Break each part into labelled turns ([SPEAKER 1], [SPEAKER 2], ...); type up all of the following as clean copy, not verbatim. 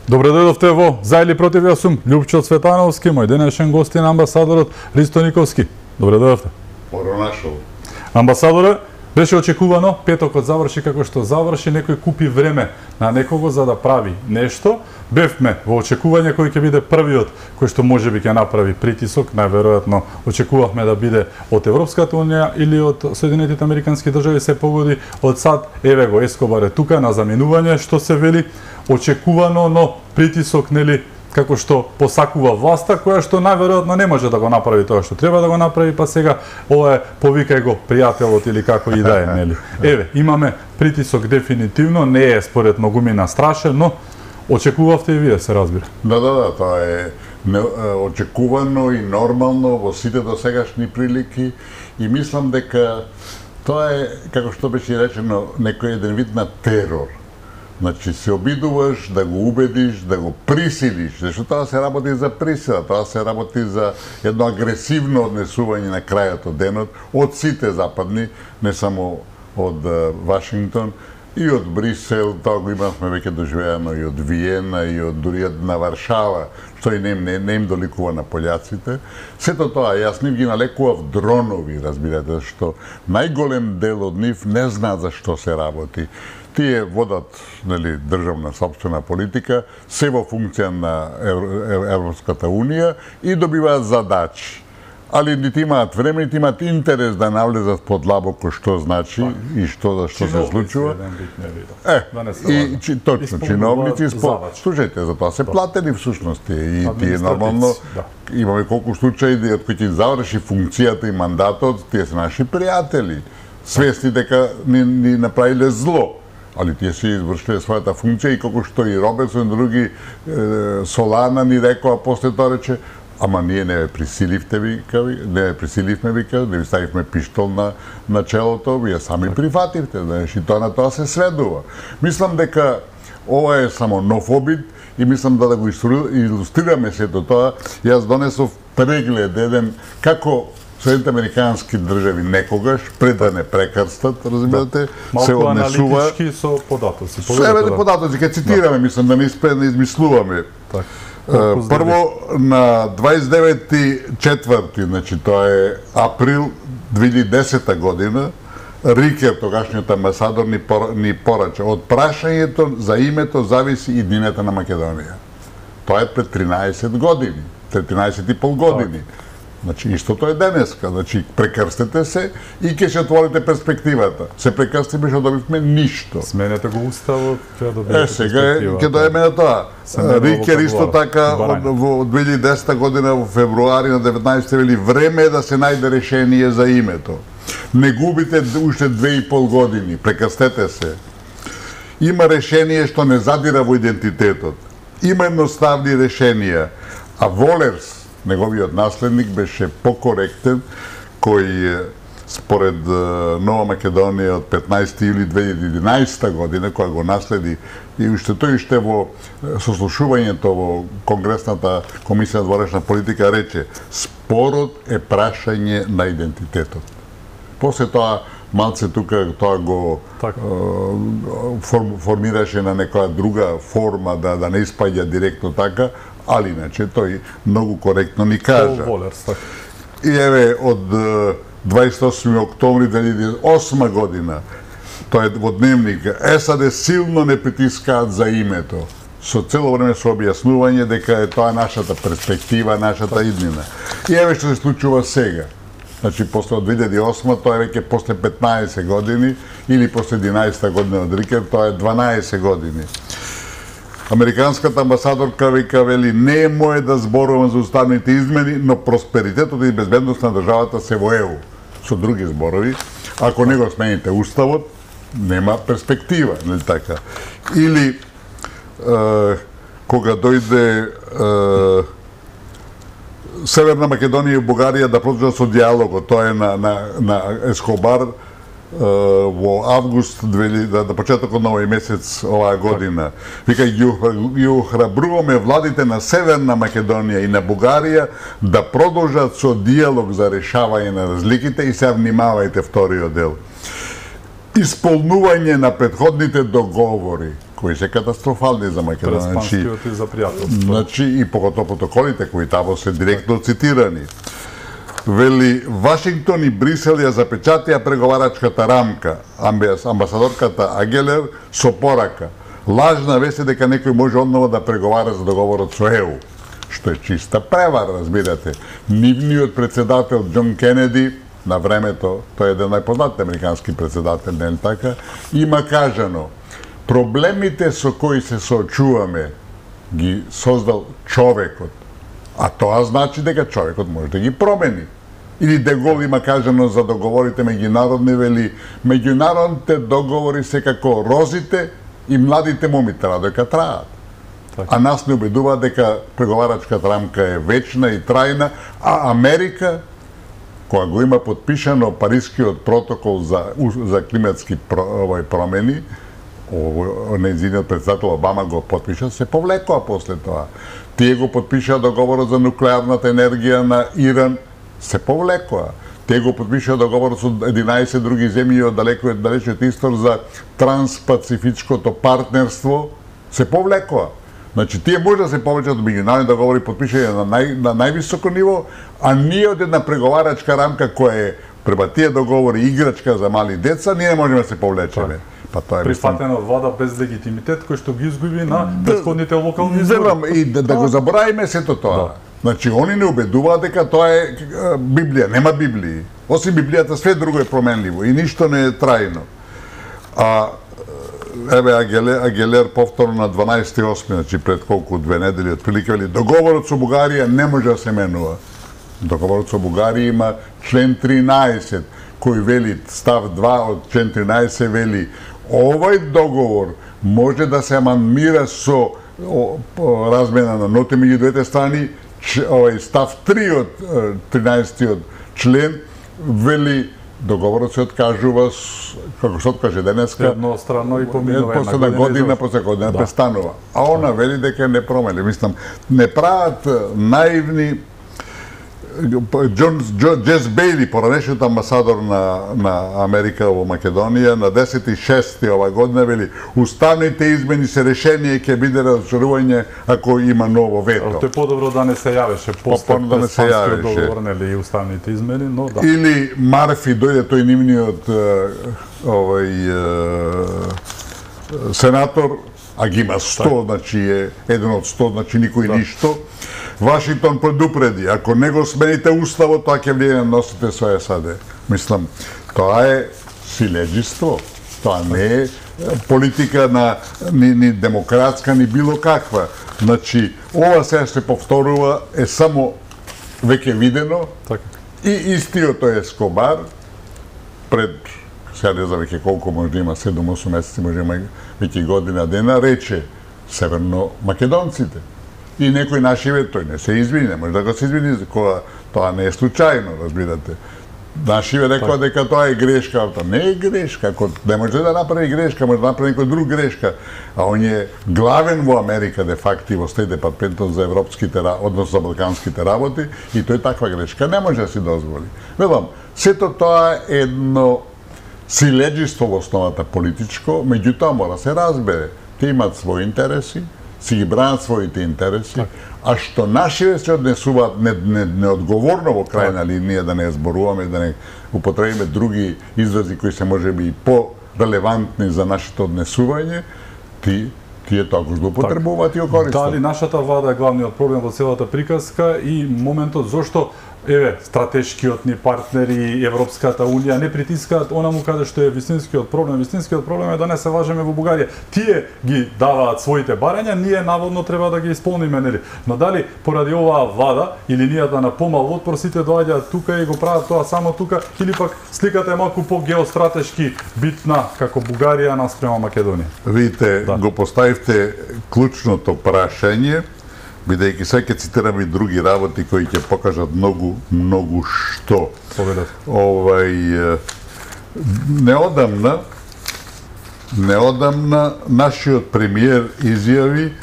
[SPEAKER 1] Добре дојдовте во За или против. Јас сум Љупчо Цветановски, мој денешен гост е амбасадорот Ристо Николски. Добре дојдовте.
[SPEAKER 2] Поронашол.
[SPEAKER 1] Амбасадоре, беше очекувано, петокот заврши како што заврши, некој купи време на некого за да прави нешто. Бевме во очекување кој ќе биде првиот кој што можеби ќе направи притисок, најверојатно очекувавме да биде од Европската унија или од Соединетите Американски држави, се погоди од САД. Еве го Ескобар е тука на заменување, што се вели очекувано, но притисок, нели, како што посакува власта, која што најверојатно не може да го направи тоа што треба да го направи, па сега ова е повикај го пријателот или како и да е, нели. Еве, имаме притисок дефинитивно, не е според многумина страшен, но очекувавте и вие, се разбира.
[SPEAKER 2] Да, тоа е очекувано и нормално во сите досегашни прилики и мислам дека тоа е, како што беше речено, некој еден вид на терор. Значи, се обидуваш да го убедиш, да го присилиш, зашто тоа се работи за присила, тоа се работи за едно агресивно однесување на крајот од денот од сите западни, не само од Вашингтон, и од Брисел, тоа го имавме веќе доживеано и од Виена, и од дури на Варшава, што и не им доликува на пољаците. Сето тоа, јас нив ги налекував дронови, разбирате, што најголем дел од нив не знаат за што се работи. Тие водат, нели, државна собствена политика, се во функција на Европската унија и добиваат задачи. Али нити имаат време, нити имаат интерес да навлезат подлабоко што значи и што се случува. Точно, чиновници, слушајте, за тоа се платени всушност и тие нормално имаме колку случаи од кои ќе заврши функцијата и мандатот, тие се наши пријатели, свесни дека ни направиле зло. Али тие си извршиле својата функција и како што и Роберсон и други Солана ни рекоа, после тоа рече, ама ние не ве присиливме, вика, не ви ставивме пиштол на челото, вие сами прифативте, знаеш, и тоа на тоа се сведува. Мислам дека ова е само нов обид и мислам да го илустрираме сето тоа. Јас донесов преглед еден како Соединените Американски држави некогаш, пред да не прекрстат, разбирате, се однесува...
[SPEAKER 1] Малку аналитички со податоци.
[SPEAKER 2] Се податоци, ке цитираме, мислам, да не измислуваме. Прво, на 29.4., значи тоа е април 2010 година, Рикер, тогашниот амбасадор, ни порача. Од прашањето за името зависи и иднината на Македонија. Тоа е пред 13 години, 13,5 години. Значи, истото е денеска. Значи, прекрстете се и ќе се отворите перспективата. Се прекрстиме, што добивме ништо.
[SPEAKER 1] Сменете го уставот, ќе добиете
[SPEAKER 2] сега ќе доеме на тоа. Рикер исто така во 2010 година во февруари на 19 вели време е да се најде решение за името. Не губите уште 2,5 години, прекрстете се. Има решение што не задира во идентитетот. Има едноставни решенија, а Волерс, неговиот наследник, беше покоректен, кој според Нова Македонија од 15 јули 2011 година, која го наследи, и уште тој уште во сослушувањето во Конгресната комисија за ворешна политика рече: спорот е прашање на идентитетот. После тоа малце тука тоа го формираше на некоја друга форма да не испаѓа директно така, али иначе тој многу коректно ни кажа. И еве од 28 октомври 2008 година, тоа е во дневник, САД силно не притискаат за името, со цело време со објаснување дека е тоа нашата перспектива, нашата иднина. И еве што се случува сега. Значи, после од 2008, тоа е веќе после 15 години, или после 11 година од Рикер, тоа е 12 години. Американската амбасадорка вели: не е мое да зборувам за уставните измени, но просперитетот и безбедност на државата се во ЕУ. Со други зборови, ако не го смените уставот, нема перспектива, нели така? Или кога дојде Северна Македонија и Бугарија да продолжат со диалогот, тоа е на Ескобар во август, на почетокот на овој месец оваа година. Вика, ги охрабруваме владите на Северна Македонија и на Бугарија да продолжат со диалог за решавање на разликите и се внимавајте вториот дел. Исполнување на претходните договори. кои се катастрофални за Македонија.
[SPEAKER 1] Преспанскиот и за пријателство.
[SPEAKER 2] Значи, и поготово протоколите кои тамо се директно цитирани. Вели, Вашингтон и Брисел ја запечатија преговарачката рамка. Амбасадорката Агелер со порака. Лажна вест е дека некој може одново да преговара за договорот со ЕУ. Што е чиста превара, разбирате. Нивниот председател Џон Кенеди, на времето, тој е еден најпознат американски председател, не така, има кажано, проблемите со кои се соочуваме ги создал човекот, а тоа значи дека човекот може да ги промени. Или Де Гол има кажано за договорите меѓународни, вели, меѓународните договори се како розите и младите момите додека траат. А нас не убедува дека преговарачката рамка е вечна и трајна, а Америка, која го има подпишано Парискиот протокол за климатски промени, нејзиниот председател Обама го подпиша, се повлекоа после тоа. Тие го подпишаа договорот за нуклеарната енергија на Иран, се повлекоа. Тие го подпишаа договорот со 11 други земји од далечниот исток за транспацифичкото партнерство, се повлекоа. Значи, тие може да се повлечат меѓународни договори подпишани на највисоко ниво, а ние од една преговарачка рамка која е према тие договори играчка за мали деца, ние не можеме да се повлечеме. Па тоа е
[SPEAKER 1] прифатена влада без легитимитет кој што ги изгуби на претходните локални избори.
[SPEAKER 2] И да го заборавиме сето тоа. Значи, они не убедуваат дека тоа е Библија, нема Библии. Осим Библијата, све друго е променливо и ништо не е трајно. Еве Агелер повторно на 12.8, значи пред колку 2 недели отприлика вели договорот со Бугарија не може да се менува. Договорот со Бугарија има член 13 кој вели став 2 од член 13 вели овој договор може да се амандмира со размена на ноти меѓу двете страни. Овој став 3 од 13 член вели договорот се откажува, како се откаже денеска,
[SPEAKER 1] едностранно и поминува
[SPEAKER 2] една година, после година престанува. А она вели дека не промени. Мислам, не прават наивни. Джес Бейли, поранешниот амбасадор на Америка во Македонија, на 10.6. ова година вели уставните измени се решение ќе биде разочарување ако има ново вето.
[SPEAKER 1] Тоа е подобро да не се јавеше после преспанскиот договор, нели, и уставните измени, но да.
[SPEAKER 2] Или Марфи дојде тој нивниот сенатор, а ги има 100, значи е еден од 100, значи никој ништо. Вашингтон предупреди, ако не го смените уставот, тоа ќе влијае на носите со САД. Мислам, тоа е силеџиство, тоа не е политика ни демократска, ни било каква. Значи, ова сега се повторува, е само веќе видено, и истиот тој Ескобар, пред, сега не знам веќе колку може да има, 7-8 месеци, може да има веќе година дена, рече северно македонците. И некој нашиве, тој не се извини, може да го се извини, тоа не е случајно, разбирате. Нашиве рекоа дека тоа е грешка, тоа не е грешка, ако не може да направи грешка, може да направи некој друг грешка, а он е главен во Америка, де факто, во Стејт департментот за европските, односно за балканските работи, и тој таква грешка не може да си дозволи. Велам, сето тоа е едно силеџиство во основата политичко, меѓутоа мора се разбере. Те имаат своји интереси, си ги бранат своите интереси, а што нашиве се однесуваат неодговорно во крајна линија, да не зборуваме, да не употребиме други изрази кои се можеби и по-релевантни за нашето однесување, тие тоа го злоупотребуваат и го користат.
[SPEAKER 1] Дали нашата влада е главниот проблем во целата приказка и моментот зошто стратешкиот ни партнери, Европската Унија не притискаат онаму каде што е вистинскиот проблем. Вистинскиот проблем е да не се лажеме во Бугарија. Тие ги даваат своите барања, ние наводно треба да ги исполниме, нели? Но дали поради оваа влада или ние да на помал отпор сите доаѓаат тука и го прават тоа само тука, или пак сликата е малку по-геостратешки битна како Бугарија наспрема Македонија?
[SPEAKER 2] Видите, го поставивте клучното прашање, бидејќи сега ќе цитирам и други работи кои ќе покажат многу што. Неодамна нашиот премиер изјави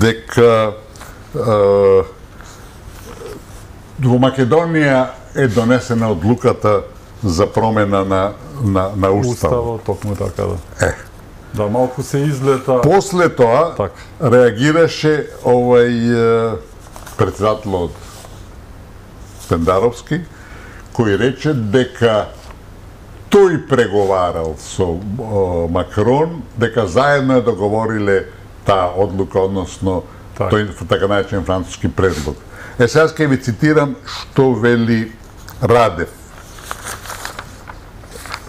[SPEAKER 2] дека во Македонија е донесена одлуката за промена на уставот.
[SPEAKER 1] Токму така, да. Да, малку се излета.
[SPEAKER 2] После тоа реагираше председателот Пендаровски, кој рече дека тој преговарал со Макрон, дека заедно договориле таа одлука, односно тој така наречен француски предлог. Сега ќе ви цитирам што вели Радев.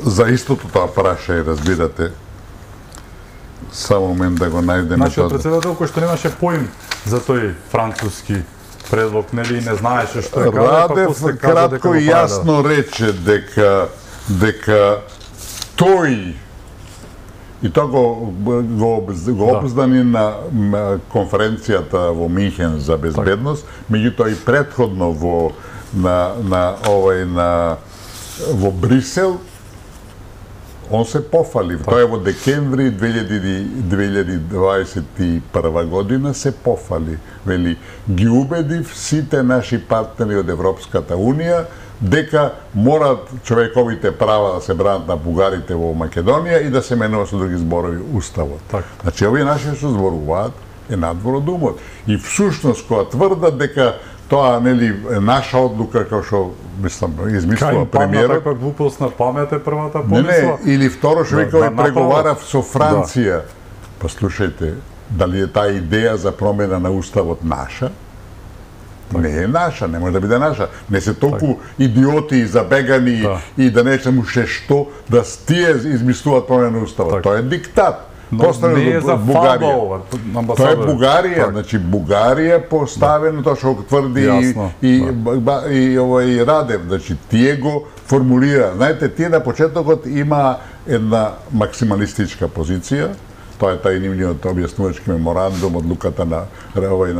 [SPEAKER 2] За истото тоа праша, разбирате. Само момент да го најдеме.
[SPEAKER 1] Нашиот председател кој што немаше поим за тој француски предлог, нели, не знаеше што е каде,
[SPEAKER 2] па после кажа дека кратко и јасно рече дека тој и тоа го обздани на конференцијата во Минхен за безбедност, меѓутоа и претходно во Брисел, он се пофали. Тоа е во декември 2021 година се пофали. Вели, ги убедив сите наши партнери од Европската Унија дека морат човековите права да се бранат на бугарите во Македонија и да се менува со други зборови уставот. Значи, овие наши што зборуваат е надвор од умот. И всушност, кога тврдат дека тоа, нели, наша одлука, како што, мислам, измислува премиерот.
[SPEAKER 1] Каква глупост на памет е првата помисла?
[SPEAKER 2] Не, или второ што вика, преговарав со Франција. Па слушајте, дали е таа идеја за промена на уставот наша? Не е наша, не може да биде наша. Не се толку идиоти и забегани и да не знам уште што, да тие измислуваат промена на уставот. Тоа е диктат.
[SPEAKER 1] Не е за фалба ова,
[SPEAKER 2] тоа е Бугарија, значи Бугарија поставено, тоа што тврди и Радев, значи тие го формулира. Знаете, тие на почетокот има една максималистичка позиција, тоа е тај нивниот објаснувачки меморандум, одлуката на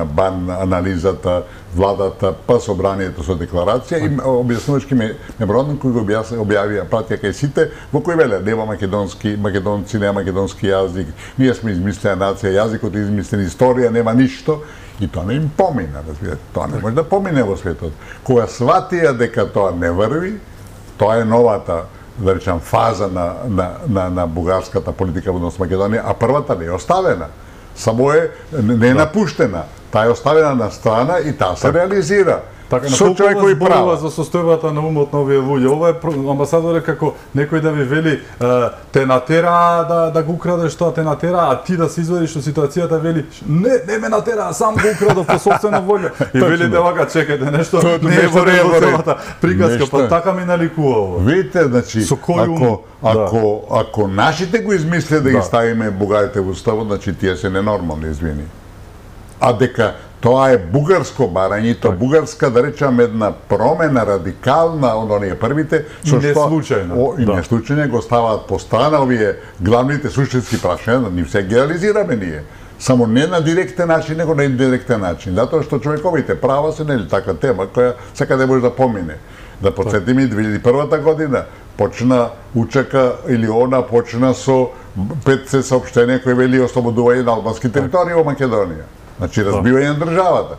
[SPEAKER 2] БАН, анализата, владата, па собранието со декларација и објаснувачки меморандум кој го објавија, пратија кај сите, во кој веле, нема македонци, нема македонски јазик, ние сме измислена нација, јазикот е измислена, историја, нема ништо, и тоа не им помина, разбирате, тоа не може да помине во светот. Кога сватија дека тоа не врви, тоа е новата, да речам, фаза на бугарската политика во однос Македонија, а првата не е оставена. Само не е напуштена. Таа е оставена на страна и таа се реализира.
[SPEAKER 1] Со човекови права. За состојбата на умот на овие луѓе. Ова е амбасадоре како некој да ви вели те натера да го украдеш тоа, те натера, а ти да се извадиш од ситуацијата, вели не ме натера, сам го украдов по собствена волја. И вели девака, чекајте, нешто не е во целата приказка, па така ми наликува ова.
[SPEAKER 2] Видите, значи, ако нашите го измислят да ги ставиме бугарите во уставот, значи тие се ненормални, извини. А дека тоа е бугарско барање, тоа бугарска, да речам, една промена радикална од оние првите,
[SPEAKER 1] со што
[SPEAKER 2] и не случајно го ставаат по страна овие главните суштински прашања, нив се ги реализираме ние. Само не на директен начин, него на индиректен начин. Затоа што човековите права се нели така тема која секаде може да помине. Да потсетиме 2001 година почна учека или она почна со 5 саопштенија кои вели ослободување на албански територии во Македонија. Значи, разбивање на државата.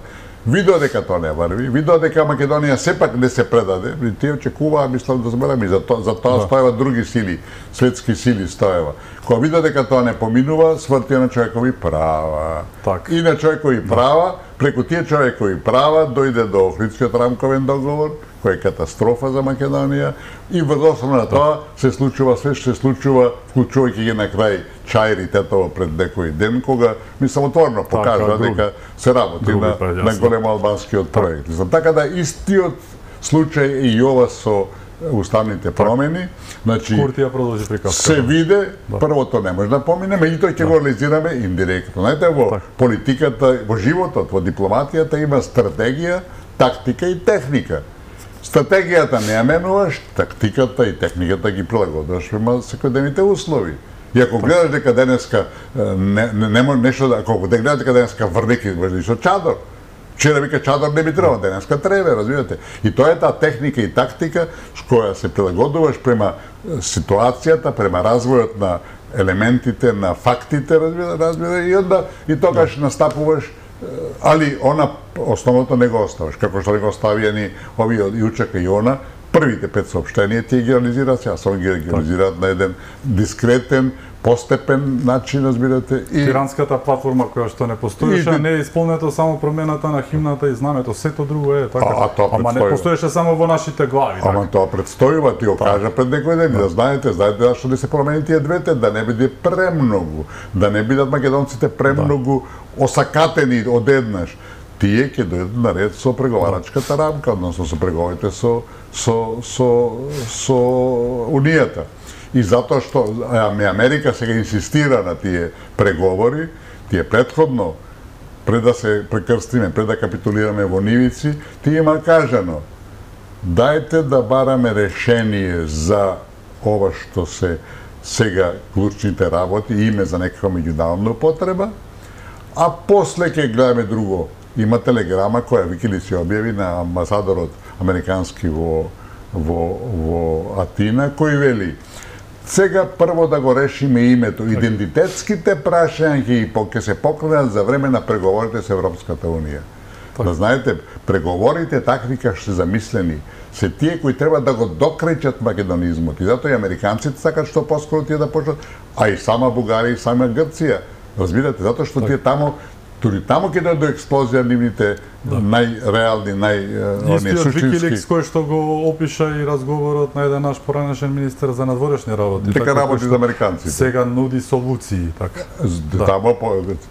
[SPEAKER 2] Видоа дека тоа не врви, видоа дека Македонија сепак не се предаде, тие очекуваа, мислам да зборам, и за тоа стоева други сили, светски сили стоева. Кога видоа дека тоа не поминува, свртија на човекови права. И на човекови права, преку тие човекови права, дојде до Охридскиот рамковен договор, кој е катастрофа за Македонија, и врз основа на тоа се случува све што се случува, вклучувајќи ги на крај Чаир и Тетово пред некој ден, кога мислам отворно покажа дека се работи на големо албанскиот проект. Така да истиот случај и ова со уставните промени, значи се виде, првото не може да помине, меѓутоа ќе го реализираме индиректно. Знаете, во политиката, во животот, во дипломатијата има стратегија, тактика и техника. Стратегијата не ја менуваш, тактиката и техниката ги прилагодуваш према секојдневните услови. И ако гледаш дека денеска нема нешто, ако гледаш дека денеска врнеки изглежда со чадор, вчера вика чадор не би требало, денеска треба, разбирате. И тоа е таа техника и тактика с која се прилагодуваш према ситуацијата, према развојот на елементите, на фактите, разбира, и онда и тогаш настапуваш, али она основното не го оставаш, како што не го оставија ни овие Јучека и она, првите 5 соопштенија тие ги реализираат, сега само ги реализираат на еден дискретен, постепен начин, разбирате.
[SPEAKER 1] И тиранската платформа која што не постоеше, не е исполнето само промената на химната и знамето, сето друго е така. Ама не постоеше само во нашите глави.
[SPEAKER 2] Ама тоа предстојува, ти го кажа пред некој ден, да знаете зашто да се промени тие двете, да не биде премногу, да не бидат македонците премногу осакатени одеднаш. Тие ќе дојдат на ред со преговарачката рамка, односно со преговорите со Унијата. И затоа што Америка сега инсистира на тие преговори, тие претходно, пред да се прекрстиме, пред да капитулираме во нивици, тие има кажано, дајте да бараме решение за ова што се сега клучните работи, име за некаква меѓународна употреба, а после ќе гледаме друго. Има телеграма која Викилис ја објави на амбасадорот американски во Атина, кој вели: сега прво да го решиме името. Идентитетските прашања ќе се покренат за време на преговорите со Европската Унија. Да знаете, преговорите такви како се замислени, се тие кои треба да го докречат македонизмот. И затоа и американците сакат што поскоро тие да почнат, а и сама Бугарија и сама Грција. Разбирате, затоа што тие таму, дури таму ќе до експлозија нивните најреални,
[SPEAKER 1] Истиот Викиликс кој што го опиша и разговорот на еден наш поранешен министер за надворешни работи.
[SPEAKER 2] Дека работи за американците.
[SPEAKER 1] Сега нуди солуции, така.
[SPEAKER 2] Таму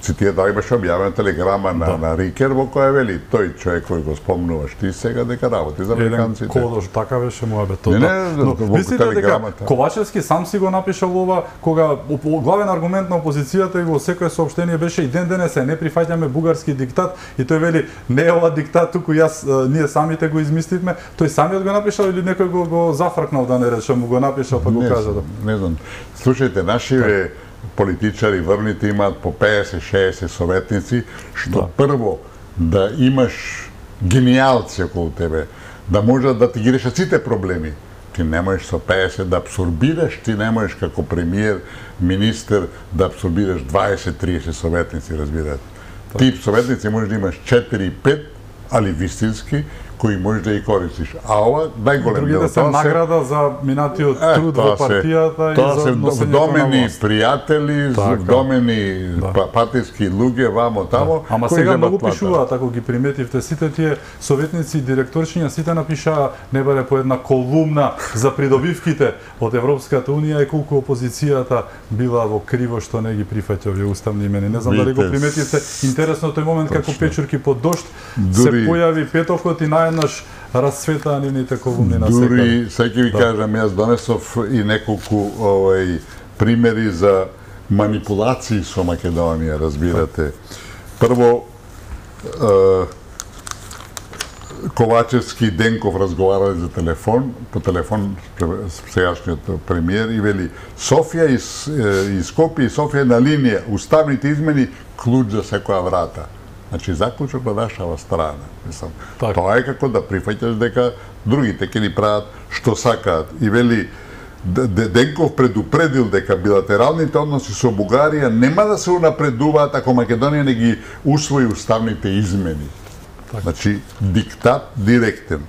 [SPEAKER 2] цитија да имаше објавена телеграма на Рикер во која вели тој човек кој го спомнуваш ти сега дека работи за американците.
[SPEAKER 1] Еден кодош, така беше муабетот.
[SPEAKER 2] Мислите
[SPEAKER 1] дека Ковачевски сам си го напишал ова кога главен аргумент на опозицијата и во секое соопштение беше и ден денес не прифаќаме бугарски диктат и тој вели не е ова диктат, туку ние самите го измисливме. Тој самиот го напишал или некој го зафркнал, да не речем, му го напишал па го кажа?
[SPEAKER 2] Не знам. Слушајте, нашиве политичари врните имаат по 50-60 советници, што прво да имаш гениалци околу тебе, да можат да ти ги решат сите проблеми. Ти не можеш со 50 да абсорбираш, ти не можеш како премиер, министер да абсорбираш 20-30 советници, разбирате. Тип советници можеш да имаш 4-5, али вистински, кои можеш да ги користиш. А ова, најголем дел,
[SPEAKER 1] другите се награда за минатиот труд во партијата и за носењето на власт.
[SPEAKER 2] Пријатели, вдомени партиски луѓе вамо тамо.
[SPEAKER 1] Ама сега многу пишуваат, ако ги приметивте, сите тие советници и директоршиња, сите напишаа не баре по една колумна за придобивките од Европската Унија и колку опозицијата била во криво што не ги прифаќа овие уставни имени. Не знам дали го приметивте. Интересно тој момент како печурки под дожд се појави петокот и наеднаш расцветаа нивните колумни на секаде.
[SPEAKER 2] Дури, сега ќе ви кажам, јас донесов и неколку примери за манипулации со Македонија, разбирате. Прво, Ковачевски и Денков разговарале за телефон, по телефон сегашниот премиер и вели Софија и Скопје и Софија на линија, уставните измени клуч за секоја врата. Значи, заклучок на нашава страна. Мислам, тоа е како да прифаќаш дека другите ќе ни прават што сакаат. И вели, Денков предупредил дека билатералните односи со Бугарија нема да се унапредуваат ако Македонија не ги усвои уставните измени. Значи, диктат директен.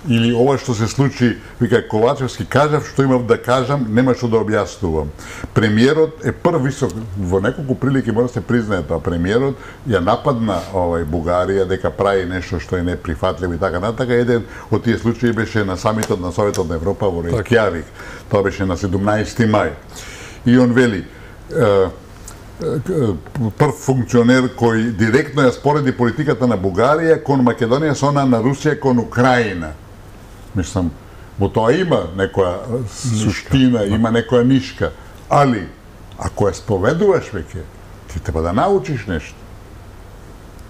[SPEAKER 2] Или ова што се случи, вика Ковачевски, кажав што имав да кажам, нема што да објаснувам. Премиерот е прв висок, во неколку прилики мора да се признае тоа, премиерот ја нападна Бугарија дека прави нешто што е неприфатливо и така натака. Еден од тие случаи беше на самитот на Советот на Европа во Рејкјавик. Тоа беше на 17 мај. И он вели, прв функционер кој директно ја спореди политиката на Бугарија кон Македонија со она на Русија кон Украина. Мислам, во тоа има некоја суштина, има некоја нишка, али ако ја споведуваш веќе, ти треба да научиш нешто.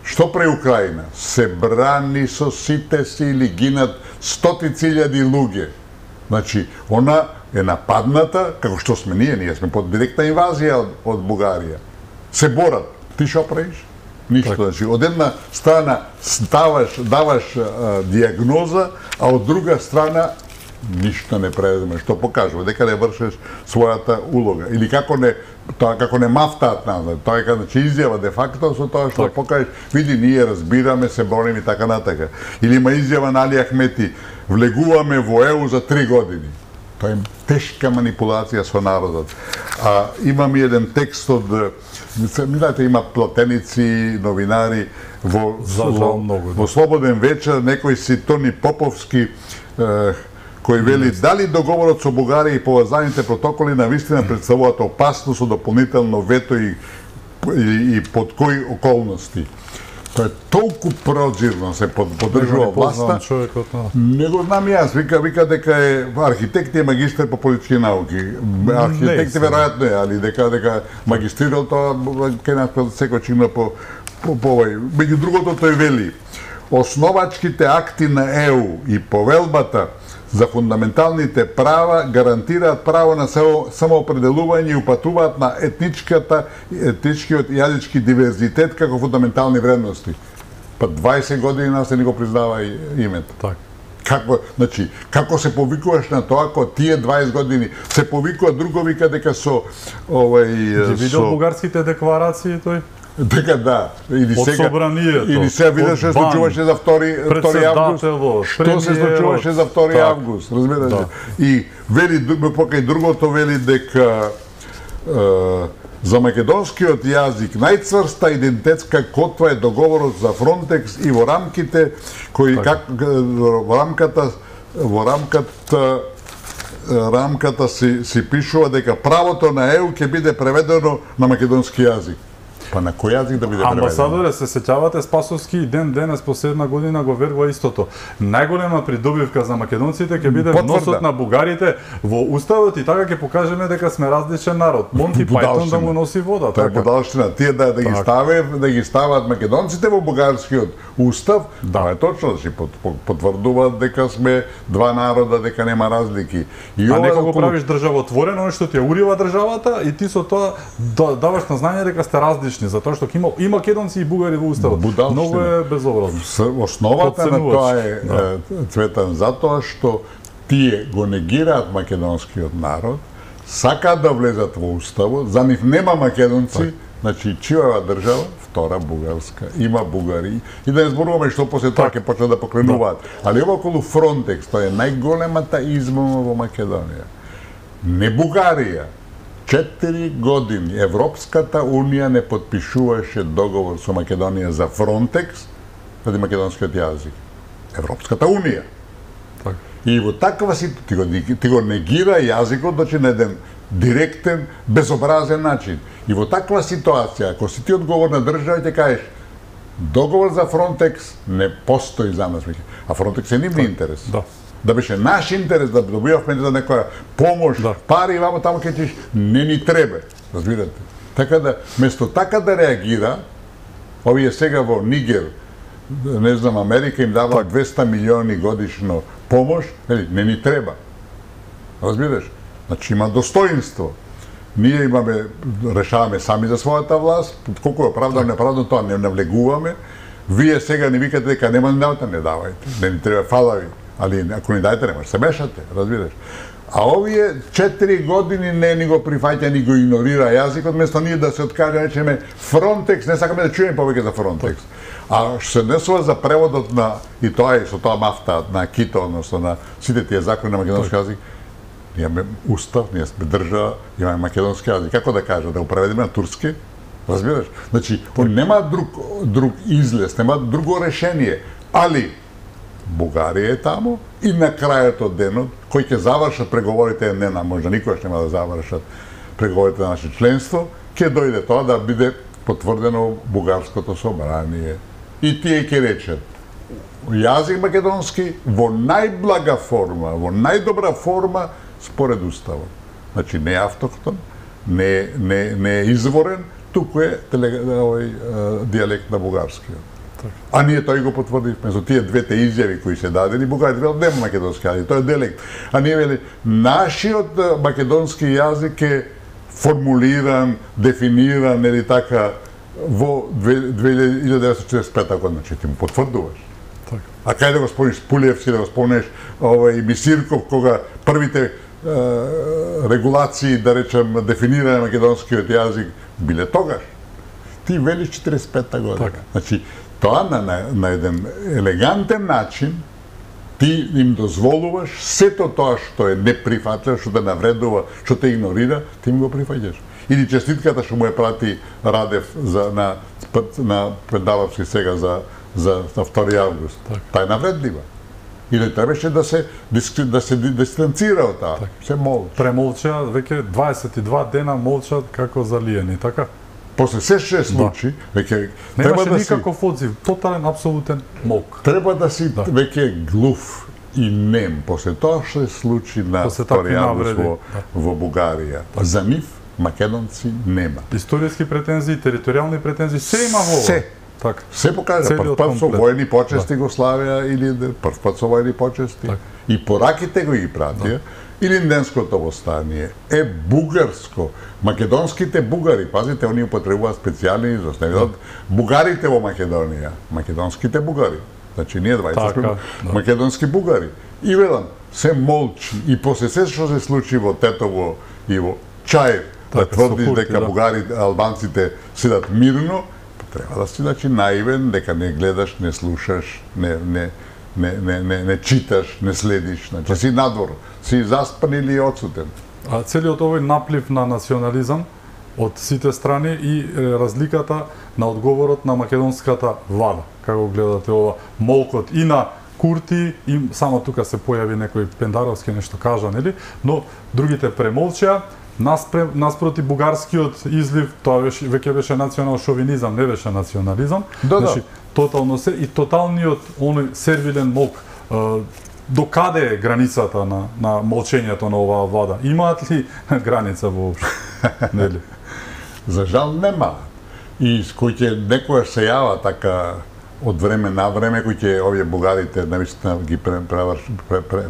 [SPEAKER 2] Што прави Украина? Се брани со сите сили, гинат стотици илјади луѓе. Значи, она е нападната, како што сме ние сме под директна инвазија од Бугарија. Се борат. Ти што правиш? Ништо. Значи, од една страна даваш диагноза, а од друга страна ништо не преведеме, што покажува дека не вршиш својата улога. Или како не мафтаат назад, тоа е значи изјава де факто со тоа што покажеш, види ние разбираме, се борим и така натака. Или има изјава на Али Ахмети, влегуваме во ЕУ за 3 години. Тоа е тешка манипулација со народот. Имам и еден текст од, знаете, има платеници, новинари, во Слободен вечер, некој си Тони Поповски, кој вели дали договорот со Бугарија и поврзаните протоколи навистина представуваат опасност од дополнително вето и под кои околности. Тоа е толку прозирно се поддржува власта. Не го знам јас, вика дека е архитект и магистар по политички науки. Архитект веројатно е, али дека магистрирал тоа кај нас секој чинно по овој. Меѓу другото тој вели, основачките акти на ЕУ и повелбата за фундаменталните права гарантираат право на самоопределување и упатуваат на етничкиот и јазички диверзитет како фундаментални вредности. Па 20 години нас не го признава името. Како се повикуваш на тоа, ако тие 20 години се повикува, друго вика дека со
[SPEAKER 1] Ги видел бугарските декларации тој?
[SPEAKER 2] Дека да, или сега видиш што се случуваше за 2 август. Што се случуваше за 2 август, разбираш? И вели покај другото вели дека за македонскиот јазик најцврста идентитетска котва е договорот за Фронтекс и во рамките кои во рамката си пишува дека правото на ЕУ ќе биде преведено на македонски јазик. Па на кој јазик да биде преведено?
[SPEAKER 1] Амбасадоре, се сеќавате, Спасовски и ден денес последна година го верува истото. Најголема придобивка за македонците ќе биде вносот на бугарите во уставот и така ќе покажеме дека сме различен народ. Монти Пајтон да му носи вода.
[SPEAKER 2] Тоа е будалштина. Тие да ги стават македонците во бугарскиот устав, тоа е точно, да си потврдуваат дека сме два народа, дека нема разлики.
[SPEAKER 1] А некако правиш државотворено, што ти ја урива државата и ти со тоа даваш на знање дека сте различни. Затоа што има и македонци и бугари во уставот. Многу е безобразно.
[SPEAKER 2] Основата на тоа е, Цветан, затоа што тие го негираат македонскиот народ, сакаат да влезат во уставот, за нив нема македонци, значи чијава држава, втора бугарска, има бугари, и да не зборуваме што после тоа ќе почнат да покренуваат. Али ова околу Фронтекс, тоа е најголемата измама во Македонија. Не Бугарија. 4 години Европската Унија не подпишуваше договор со Македонија за Фронтекс, заради македонскиот јазик. Европската Унија. И во таква ситуација ти го негира јазикот, значи на еден директен, безобразен начин. И во таква ситуација, ако си ти одговорна држава, ќе кажеш договор за Фронтекс не постои за нас, а Фронтекс е нивни интерес. Да беше наш интерес да добивавме за некоја помош, пари, вамо таму ќе чиш, не ни треба, разбирате. Така да, место така да реагира, овие сега во Нигер, не знам, Америка им дава 200 милиони годишно помош, не ни треба. Разбираш? Значи има достоинство. Ние имаме, решаваме сами за својата власт, колку е оправдано, неправдано, тоа не навлегуваме. Вие сега не викате дека нема да не давајте, не ни треба, фала ви. Али ако ни дајте, немаш се мешате, разбираш. А овие 4 години не ни го прифаќа, ни го игнорира јазикот, место ние да се откаже, речеме Фронтекс, не сакаме да чуеме повеќе за Фронтекс. А што се однесува за преводот на, и тоа е со тоа мафта на Кито, односно на сите тие закони на македонски јазик, ние имаме устав, ние сме држава, имаме македонски јазик. Како да кажа, да го преведеме на турски? Разбираш? Значи, нема друг излез, нема друго решение, али Бугарија е таму и на крајот од денот, кој ќе завршат преговорите, можда никогаш нема да завршат преговорите на наше членство, ќе дојде тоа да биде потврдено бугарското собрание. И тие ќе речат, јазик македонски во најблага форма, во најдобра форма според уставот. Значи не е автохтон, не е изворен, туку е дијалект на бугарскиот. А ние тој го потврдивме со тие двете изјави кои се дадени, бугарите велат нема македонски јазик, тоа е дијалект. А ние вели нашиот македонски јазик е формулиран, дефиниран или така во 1945 година, значи ти му потврдуваш. А кај да го спомниш Пулиевски, да го спомнеш и Мисирков, кога првите регулации, да речем, дефинирање на македонскиот јазик биле тогаш. Ти велиш 45-та година.
[SPEAKER 1] Така.
[SPEAKER 2] Значи, тоа на еден елегантен начин ти им дозволуваш сето тоа што е неприфатливо, што те навредува, што те игнорира, ти им го прифаќаш. Или честитката што му е прати Радев на Пендаловски сега за 2 август. Та е навредлива. Или требаше да се дистанцира од таа. Се молча.
[SPEAKER 1] Премолча, веќе 22 дена молчат како залиени, така?
[SPEAKER 2] После се што се случи, веќе
[SPEAKER 1] немаше никаков одзив, тотален, апсолутен мок.
[SPEAKER 2] Треба да си веќе глув и нем после тоа што се случи на 2 август во Бугарија. За нив македонци нема.
[SPEAKER 1] Историски претензии, територијални претензии, се има во.
[SPEAKER 2] Се.
[SPEAKER 1] Така.
[SPEAKER 2] Се покажа, прв пат со војни почести го славија, или прв пат со војни почести. И пораките го ги пратија, или Инденското востание е бугарско. Македонските бугари, пазите, они употребуваат специјални израз, не видат бугарите во Македонија, македонските бугари. Значи ние 20 македонски бугари. И ведам, се молчи и после се што се случи во Тетово и во Чај, да тврдиш дека бугарите, албанците седат мирно, треба да си наивен, дека не гледаш, не слушаш, не читаш, не следиш, значи си надвор, си заспан или одсутен.
[SPEAKER 1] А целиот овој наплив на национализам од сите страни и разликата на одговорот на македонската влада. Како гледате ова молкот и на Курти, и само тука се појави некој Пендаровски нешто кажа, нели? Но другите премолчаа. Наспроти бугарскиот излив, тоа веќе беше национал шовинизам, не беше национализам. Значи, тотално се и тоталниот оној сервилен молк. До каде е границата на молчењето на оваа влада? Имаат ли граница воопшто? Нели?
[SPEAKER 2] За жал нема. И кој ќе некојаш се јава така од време на време, кој ќе овие бугарите навистина ги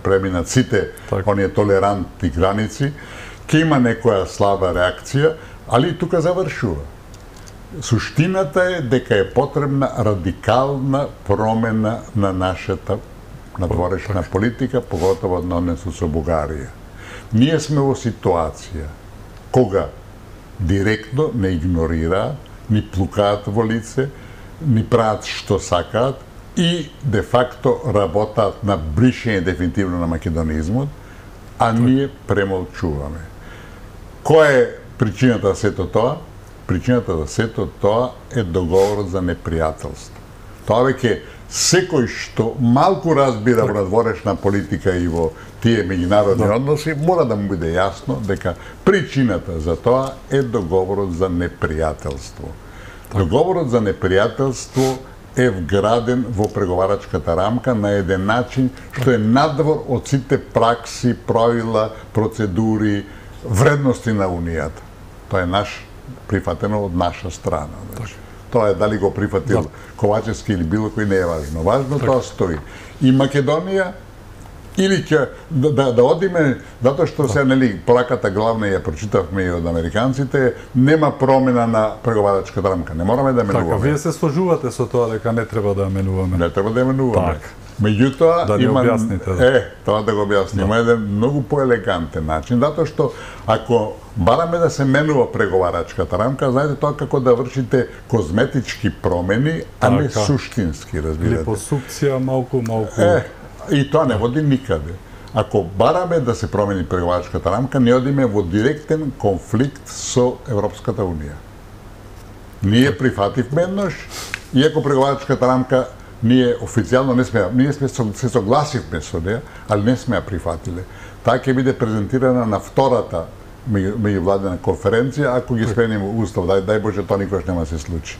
[SPEAKER 2] преминат сите оние толерантни граници, ќе има некоја слаба реакција, али тука завршува. Суштината е дека е потребна радикална промена на нашата надворешна политика, поготово на однесот со Бугарија. Ние сме во ситуација кога директно не игнорираат, ни плукаат во лице, ни прават што сакаат и де факто работаат на бришење дефинитивно на македонизмот, а ние премолчуваме. Која е причината за сето тоа? Причината за сето тоа е договорот за непријателство. Тоа веќе секој што малку разбира во надворешна политика и во тие меѓународни односи, мора да му биде јасно дека причината за тоа е договорот за непријателство. Договорот за непријателство е вграден во преговарачката рамка на еден начин што е надвор од сите пракси, правила, процедури, вредности на Унијата. Тоа е прифатено од наша страна. Тоа е дали го прифатил Ковачевски или било кој, не е важно. Важно тоа стои. И Македонија или ќе да одиме, затоа што се нели пораката главна ја прочитавме и од американците, нема промена на преговарачката рамка. Не мораме да менуваме.
[SPEAKER 1] Така, вие се сложувате со тоа дека не треба да менуваме.
[SPEAKER 2] Не треба да менуваме. Меѓутоа
[SPEAKER 1] да
[SPEAKER 2] има
[SPEAKER 1] тоа
[SPEAKER 2] да го објасним. Има еден многу поелегантен начин, затоа што ако бараме да се менува преговарачката рамка, знаете тоа како да вршите козметички промени, а не суштински, разбирате.
[SPEAKER 1] Липосукција малку.
[SPEAKER 2] И тоа не води никаде. Ако бараме да се промени преговарачката рамка, не одиме во директен конфликт со Европската Унија. Ние прифативме еднош, иако преговарачката рамка ние официјално ние се согласивме со неја, али не сме ја прифатиле. Таа ќе биде презентирана на втората меѓувладена конференција, ако ги сменим устав, дај Боже, тоа никош нема се случи.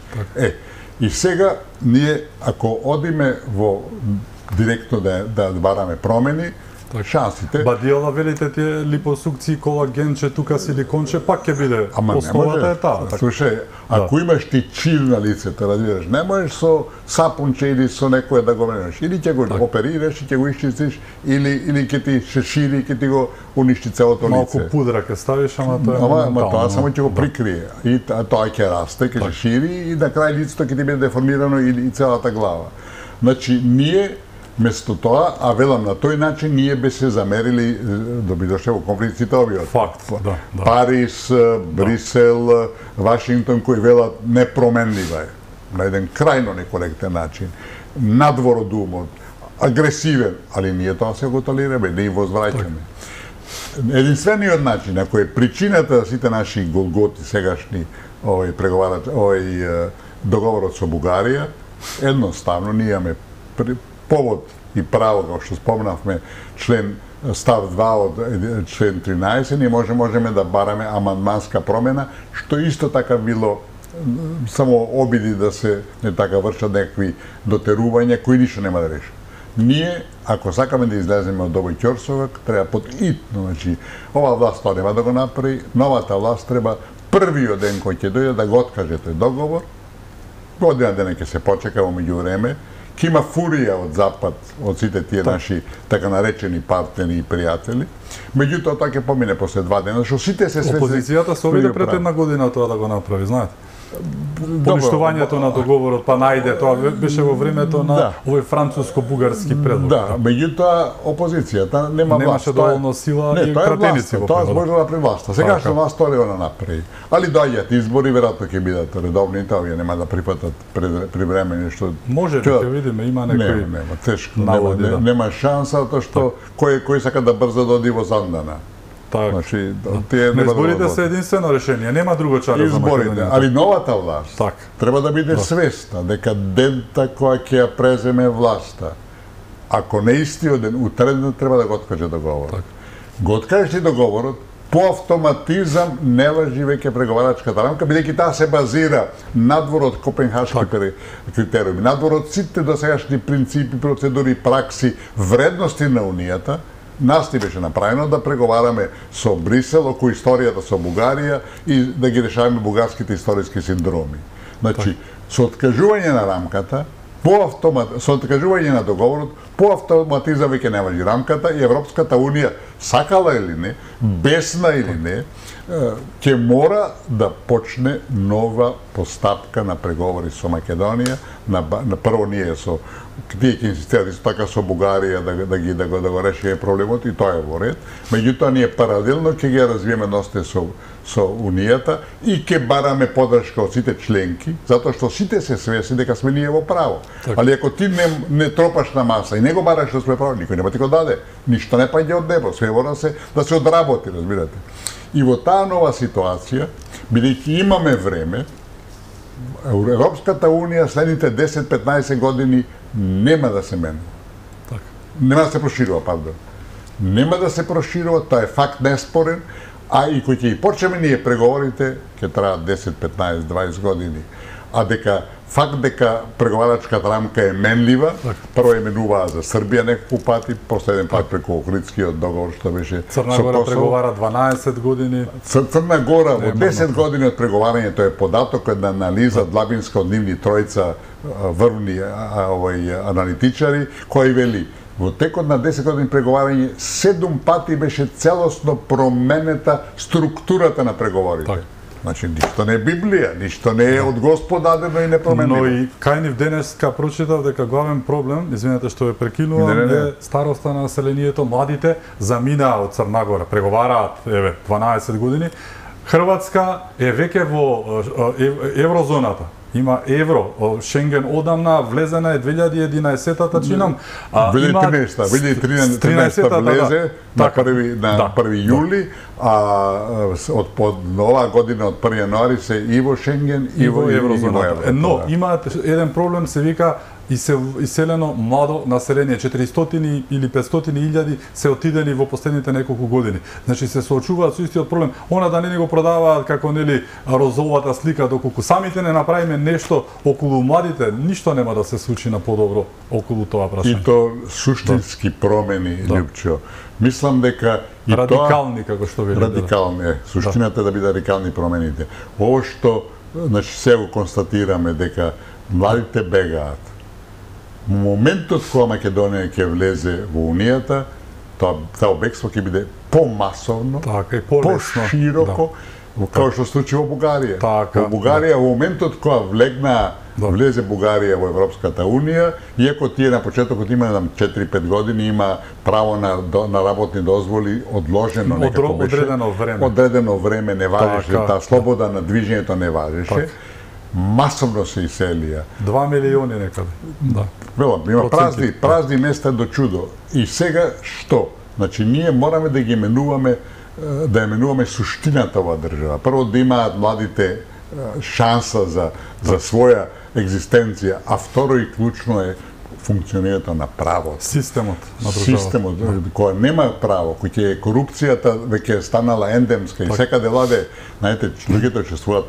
[SPEAKER 2] И сега ние, ако одиме во директно да бараме промени, шансите...
[SPEAKER 1] Бадијала велите тие липосукции, колагенче, тука силиконче, пак ќе биде основата е таа.
[SPEAKER 2] Слушај, ако имаш ти чир на лицето, разбираш, не можеш со сапунче или со некој да го менеш. Или ќе го оперираш и ќе го исчистиш, или ќе ти се шири и ќе ти го уништи целото лице.
[SPEAKER 1] Малку пудра ќе ставиш, ама тоа е моментално.
[SPEAKER 2] Ама тоа само ќе го прикрие. И тоа ќе расте, ќе се шири и на крај лицето ќе ти биде деформирано и целата глава. Значи, ние Место тоа, а велам на тој начин ние би се замерили да би дошле во конфликт сите овие.
[SPEAKER 1] Факт, да.
[SPEAKER 2] Париз, Брисел, Вашингтон кои велат непроменлива е на еден крајно некоректен начин, надвор од умот, агресивен, али ние тоа се го толераме, да им возвраќаме. Единствениот начин, ако е причината за сите наши голготи сегашни, договорот со Бугарија, едноставно ние имаме повод и право, како што спомнавме, став 2 од член 13, ние можеме да бараме амандманска промена, што исто така било само обиди да се не така вршат некакви дотерувања кои ништо нема да решат. Ние, ако сакаме да излеземе од овој ќорсовак, треба подитно, значи, ова власт тоа нема да го направи, новата власт треба првиот ден кој ќе дојде да го откаже тој договор, година дена ќе се почека во меѓувреме, ќе има фурија од Запад, од сите тие наши така наречени партнери и пријатели, меѓутоа тоа ќе помине после 2 дена, што сите се свесни.
[SPEAKER 1] Опозицијата се обиде пред една година тоа да го направи, знаете. Поништувањето на договорот, па најде, тоа беше во времето на овој француско-бугарски предлог.
[SPEAKER 2] Да, меѓутоа опозицијата нема власт.
[SPEAKER 1] Немаше доволно сила и пратеници во
[SPEAKER 2] тоа можела при власта. Сегашна власт тоа не направи. Али доаѓаат избори, веројатно ќе бидат редовните, овие нема да прифатат привремени што
[SPEAKER 1] може да ќе видиме, има некои
[SPEAKER 2] нема тешко, нема шанса тоа што кој сака да брзо да оди во Зандана.
[SPEAKER 1] Значи, изборите се единствено решение, нема друго чаре за Македонија.
[SPEAKER 2] Али новата власт треба да биде свесна дека дента која ќе ја преземе власта, ако не истиот ден, утредно треба да го откаже договорот. Го откажеш договорот, по автоматизам не важи веќе преговарачката рамка, бидејќи таа се базира надвор од копенхашки критериуми, надвор од сите досегашни принципи, процедури, пракси, вредности на Унијата. Нас ни беше направено да преговараме со Брисел околу историјата со Бугарија и да ги решаваме бугарските историски синдроми. Значи, со откажување на рамката, со откажување на договорот, по автоматизам веќе не важи рамката и Европската Унија, сакала или не, бесна или не, ќе мора да почне нова постапка на преговори со Македонија, на прво ние со тие ќе инсистираат исто така со Бугарија да го решиме проблемот и тоа е во ред. Меѓутоа ние паралелно ќе ги развиеме односите со Унијата и ќе бараме поддршка од сите членки, затоа што сите се свесни дека сме ние во право. Али ако ти не тропаш на маса и не го бараш да сме право, никој нема ти го даде. Ништо не паѓа од небо, све мора да се одработи, разбирате. И во таа нова ситуација, бидејќи имаме време, Европската Унија следните 10-15 години нема да се менува. Нема да се проширува, пардон. Нема да се проширува, тоа е факт неспорен, а и кој ќе почнеме ние преговорите, ќе траат 10, 15, 20 години. А факт дека преговарачката рамка е менлива, прво е менуваа за Србија неколку пати, после еден пат преку Охридскиот договор што беше
[SPEAKER 1] Црна Гора преговара 12 години.
[SPEAKER 2] Црна Гора во 10 години од преговарањето е податокот на анализа длабинска од нивни тројца врвни аналитичари, кои вели во текот на 10 години преговарање 7 пати беше целосно променета структурата на преговорите. Значи, ништо не е Библија, ништо не е од Господ дадено и непроменливо.
[SPEAKER 1] Но и кај нив денеска прочитав дека главен проблем, извинете што ве прекинувам, е староста на населението, младите заминаа од Црна Гора, преговараат 12 години. Хрватска е веќе во еврозоната. Има евро, Шенген одамна влезена е 2011-та чинам.
[SPEAKER 2] 2013-та влезе на 1 јули, а од нова година од 1 јануари се и во Шенген и во еврозоната.
[SPEAKER 1] Но има еден проблем, се вика иселено младо население, 400 или 500 илјади се отидени во последните неколку години. Значи се соочуваат со истиот проблем. Она да не го продаваат како нели розовата слика, доколку самите не направиме нешто околу младите, ништо нема да се случи на подобро околу тоа прашање.
[SPEAKER 2] И то суштински промени, Лјупчо. Мислам дека и
[SPEAKER 1] радикални, како што вели.
[SPEAKER 2] Радикални, суштината да биде радикални промените. Ово што, значи, се го констатираме дека младите бегаат. Во моментот кога Македонија ќе влезе во Унијата, тоа бегство ќе биде помасовно, пошироко, како што случи во Бугарија. Во Бугарија, во моментот кога влегнаа влезе Бугарија во Европската унија, иако тие на почетокот има 4-5 години има право на работни дозволи одложено некако беше. Одредено време не важеше, таа слобода на движењето не важеше. Масовно се иселија.
[SPEAKER 1] 2 милиони некаде. Да.
[SPEAKER 2] Има празни места до чудо. И сега што? Значи ние мораме да ги именуваме суштината во држава. Прво да имаат младите шанса за своја екзистенција, а второ и клучно е функционирањето на правото.
[SPEAKER 1] Системот на држава.
[SPEAKER 2] Системот, која нема право, кој е корупцијата веќе е станала ендемска и секаде ладе, знаете, луѓето чувствуваат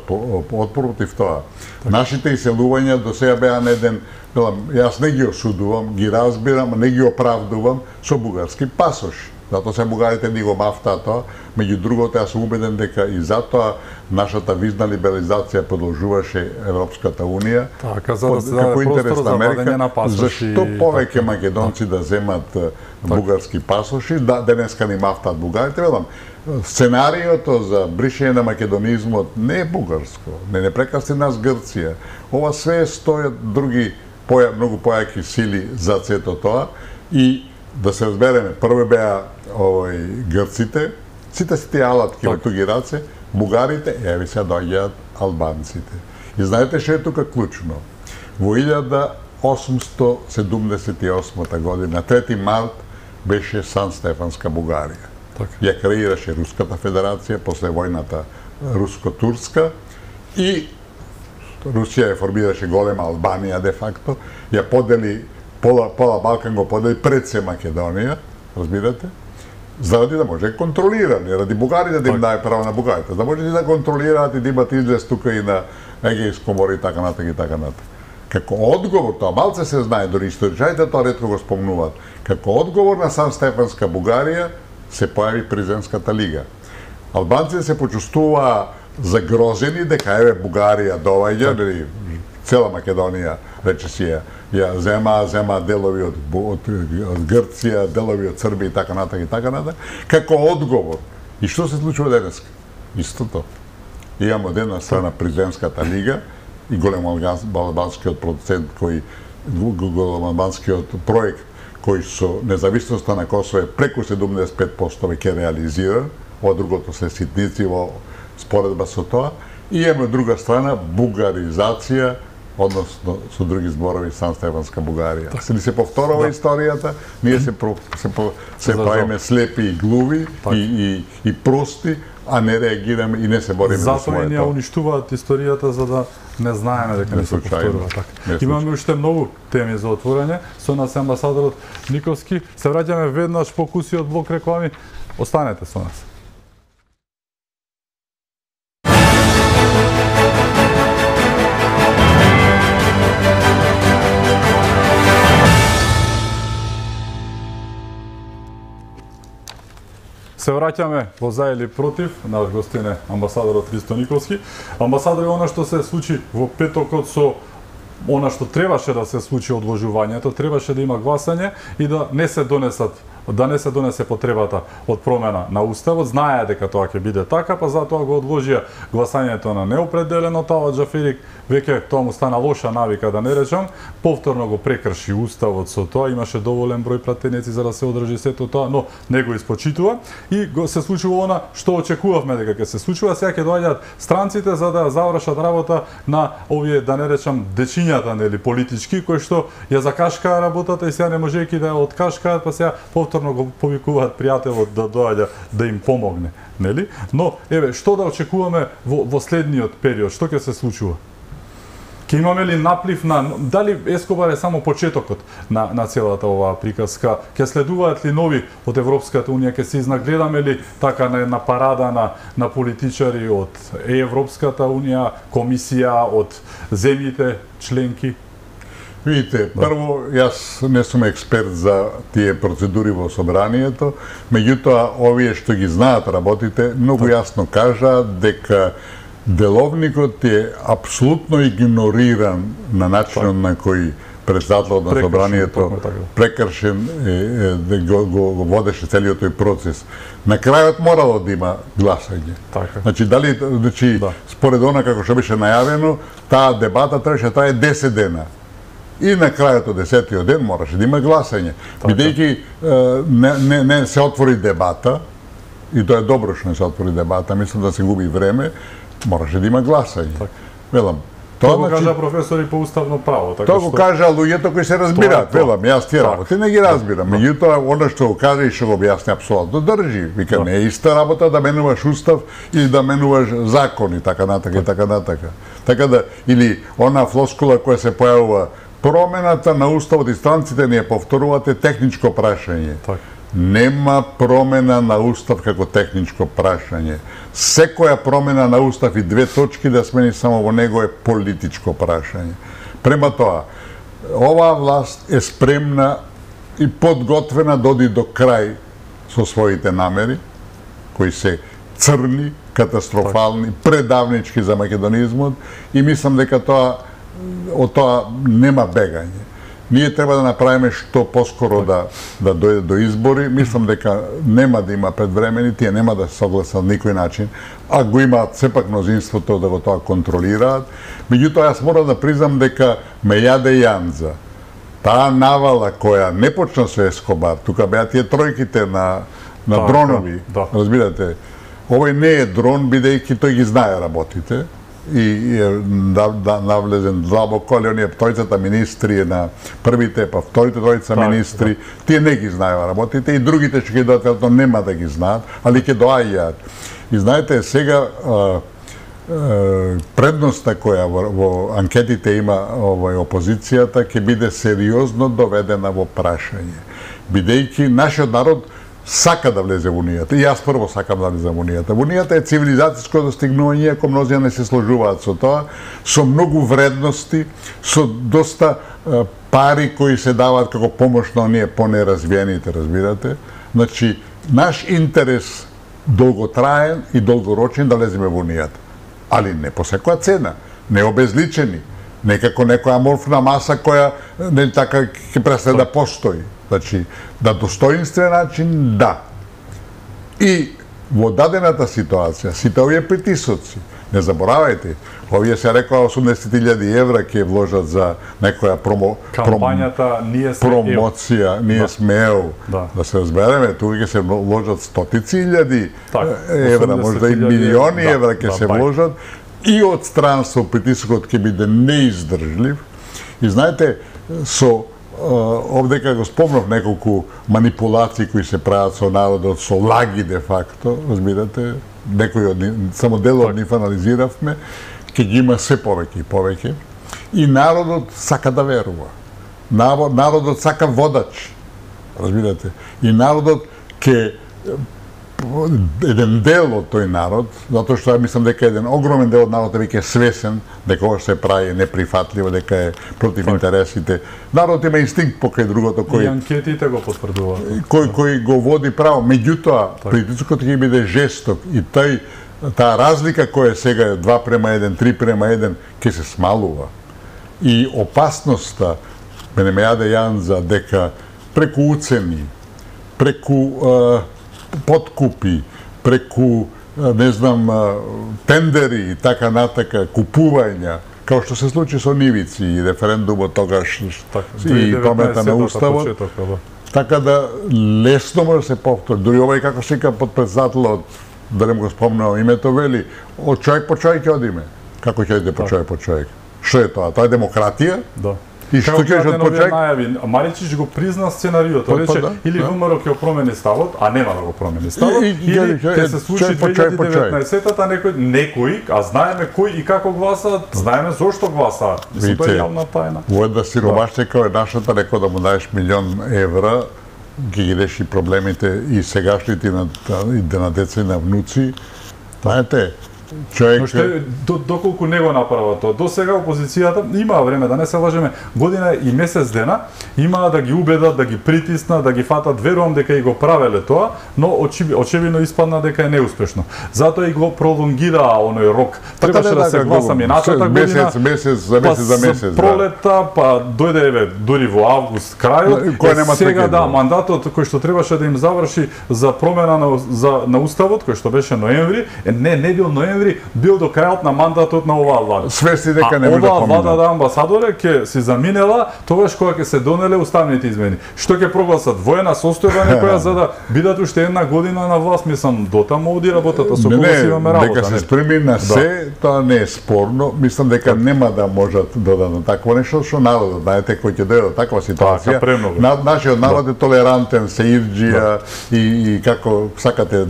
[SPEAKER 2] отпор против тоа. Нашите иселувања до сега беа на еден, јас не ги осудувам, ги разбирам, не ги оправдувам со бугарски пасоши. Затоа се бугарите ни го мафтаа тоа, меѓу другото јас сум убеден дека и затоа нашата визна либерализација продолжуваше Европската унија.
[SPEAKER 1] Така, за да се даде простор за владење на пасоши.
[SPEAKER 2] Зашто повеќе македонци да земат бугарски пасоши, денеска ни мафтаат бугарите, велам, сценариото за бришење на македонизмот не е бугарско, не прекаси нас Грција. Ова све стојат други многу појаки сили за сето тоа и да се разбереме, прво беа грците, сите си тие алатки во туги раце, бугарите, еви се доаѓаат албанците. И знаете што е тука клучно? Во 1878 година, 3 март, беше Сан Стефанска Бугарија. Ја креираше Руската федерација после војната руско-турска и Русија ја формираше голема Албанија де факто, ја подели пола Балкан го подели пред се Македонија, разбирате? Заради да може контролирани, ради бугарите да им даде право на бугарите, да може да контролираат и да имат излез тука и на Егејско море и така натаму. Како одговор, тоа малце се знае, дори историчарите тоа ретко го спомнуваат, како одговор на Сан Стефанска Бугарија се појави Презенската лига. Албанците се почувствуваа загрозени дека еве Бугарија доаѓа, цела Македонија рече си ја зема делови од Грција, делови од Србија и така натаму, како одговор. И што се случува денеска? Истото. Имаме од една страна Презенската лига и големоалбанскиот процент големоалбанскиот проект кој со независноста на Косово е преку 75% веќе реализиран, ова другото се ситници во споредба со тоа, и имаме од друга страна бугаризација, односно со други зборови Сан Стефанска Бугарија. Се повторува историјата, ние се правиме слепи и глуви и прости, а не реагираме и не се бориме за своето.
[SPEAKER 1] Затоа и ние уништуваат историјата за да не знаеме дека не се повторува така. Имаме уште многу теми за отворање. Со нас амбасадорот Николски. Се враќаме веднаш по кусиот блок реклами. Останете со нас. Се враќаме во за или против, наш гостин е амбасадорот Христо Николски. Амбасадор, она што се случи во петокот со она што требаше да се случи одложувањето, требаше да има гласање и да не се донесе потребата од промена на уставот. Знаеа дека тоа ќе биде така, па затоа го одложија гласањето на неопределено. Таа Џаферик веќе тоа му стана лоша навика, да не речам, повторно го прекрши уставот со тоа, имаше доволен број пратеници за да се одржи сето тоа, но не го испочитува и се случува она што очекувавме дека ќе се случува. Сега ќе доаѓаат странците за да завршат работа на овие, да не речам, дечињата, нели, политички, кои што ја закашкаа работата и сега не можејќи да ја откашкаат, па сега повторно го повикуваат пријателот да доаѓа да им помогне, нели? Но еве, што да очекуваме во следниот период, што ќе се случува? Ќе имаме ли наплив на дали Ескобар е само почетокот на целата оваа приказка? Ќе следуваат ли нови од Европската унија? Ќе се изнагледаме ли така на една парада на политичари од Европската унија, комисија, од земјите членки?
[SPEAKER 2] Видите, прво, јас не сум експерт за тие процедури во собранието, меѓутоа, овие што ги знаат работите, многу јасно кажаат дека деловникот е апсолутно игнориран на начинот на кој председателот на собранието прекршен, го водеше целиот тој процес. На крајот морало да има гласање. Значи, според она како што беше најавено, таа дебата требаше да трае 10 дена. И на крајот од 10-тиот ден мораше да има гласање. Бидејќи не се отвори дебата, и тоа е добро што не се отвори дебата, мислам да се губи време, мораше да има гласање. Велам,
[SPEAKER 1] тоа го кажа професори по уставно право,
[SPEAKER 2] така што тоа го кажа луѓето кои се разбираат, велам, јас тие работи не ги разбирам. Меѓутоа, она што го кажа и што го објасни апсолутно држи. Вика, не е иста работа да менуваш устав или да менуваш закони, така натака и така натака. Така да, или она флоскула која се појавува, промената на уставот и странците не ја повторувате техничко прашање. Нема промена на устав како техничко прашање. Секоја промена на устав и 2 точки да смени само во него е политичко прашање. Према тоа, оваа власт е спремна и подготвена да оди до крај со своите намери, кои се црни, катастрофални, предавнички за македонизмот, и мислам дека од тоа нема бегање. Ние треба да направиме што поскоро да дојде до избори. Мислам дека нема да има предвремени, тие нема да се согласат на никој начин, а го имаат сепак мнозинството да го тоа контролираат. Меѓутоа, јас морам да признам дека ме јаде јанза. Таа навала која не почна со Ескобар, тука беа тие тројките на дронови, разбирате, овој не е дрон, бидејќи тој ги знае работите, и навлезен длабоко, али оние тројцата министри на првите, па вторите тројца министри, тие не ги знаеа работите, и другите што ги доаѓаат нема да ги знаат, али ќе доаѓаат. И знаете, сега предноста која во анкетите има опозицијата ќе биде сериозно доведена во прашање. Бидејќи нашиот народ сака да влезе во Унијата. И јас прво сакам да влезем во Унијата. Унијата е цивилизацијско достигнување, ако мнозија не се сложуваат со тоа, со многу вредности, со доста пари кои се даваат како помош на оние понеразвиените, разбирате. Значи, наш интерес долготраен и долгорочен да влеземе во Унијата. Али не по секоја цена, не обезличени, не како некоја аморфна маса која не така ќе престане да постои. Значи, на достоинствен начин, да. И во дадената ситуација, сите овие притисоци, не заборавајте, овие се рекоа 80.000 евра ќе вложат за некоја
[SPEAKER 1] кампањата
[SPEAKER 2] промоција, ние сме ЕУ. Да се разбереме, тука ќе се вложат стотици илјади евра, можда и милиони евра ќе се вложат, и од странство притисокот ќе биде неиздржлив. И знаете, со овдека го спомнав неколку манипулации кои се прават со народот, со лаги де факто, разбирате, некои од нив, само дел од нив анализиравме, ќе ги има се повеќе и повеќе, и народот сака да верува. Народот сака водач, разбирате, и народот ќе еден дел од тој народ, затоа што ја мислам дека еден огромен дел од народот е веќе свесен дека ова се прави неприфатливо, дека е против интересите. Народот има инстинкт покај другото кој
[SPEAKER 1] и анкетите го потврдуваат.
[SPEAKER 2] Кој го води право, меѓутоа притисокот ќе биде жесток и таа разлика која сега е 2:1, 3:1 ќе се смалува. И опасноста ме јаде јанза дека преку уцени, преку подкупи, преку, не знам, тендери и така натака, купувања, као што се случи со Нивици и референдумот тогаш и промена на уставот. Така да лесно може да се повтори. Дури овој како се вика подпредседателот, да не го спомнам името, вели, од човек по човек ќе одиме. Како ќе одите по човек по човек? Што е тоа? Тоа е демократија?
[SPEAKER 1] Да.
[SPEAKER 2] И што ќе од почек?
[SPEAKER 1] Маричич го призна сценариото, рече или ВМРО ќе промени ставот, а нема да го промени ставот, или ќе се случи 2019-та некој, а знаеме кој и како гласаат, знаеме зошто гласаат. Мислам, тоа е јавна тајна.
[SPEAKER 2] Во една сиромаштека е нашата, рекол да му даеш 1.000.000 евра, ги реши проблемите и сегашните и на деца и на внуци. Знаете, човек...
[SPEAKER 1] Доколку не го направа тоа. До сега опозицијата имаа време, да не се лажеме, година и месец дена, имаа да ги убедат, да ги притиснат, да ги фатат, верувам дека и го правеле тоа, но очевидно испадна дека е неуспешно. Затоа и го пролонгираа оној рок. Требаше да се гласа минатата година,
[SPEAKER 2] месец за месец,
[SPEAKER 1] пролета, па дојде еве дури во август крајот. Сега да, мандатот кој што требаше да им заврши за промена на уставот, кој што беше ноември, не бил ноември, бил до крајот на мандатот на оваа влада.
[SPEAKER 2] Свесни дека не може да помине.
[SPEAKER 1] Оваа влада амбасадоре ќе си заминела тогаш кога ќе се донеле уставните измени. Што ќе прогласат воена состојба некоја за да бидат уште една година на власт, мислам, дотаму оди работата со кого си имаме работа.
[SPEAKER 2] Дека се спреми на се, тоа не е спорно. Мислам дека нема да можат да дадат такво нешто што народот, знаете, кој ќе дојде до таква ситуација. Нашиот народ е толерантен, се ирџија и како сакате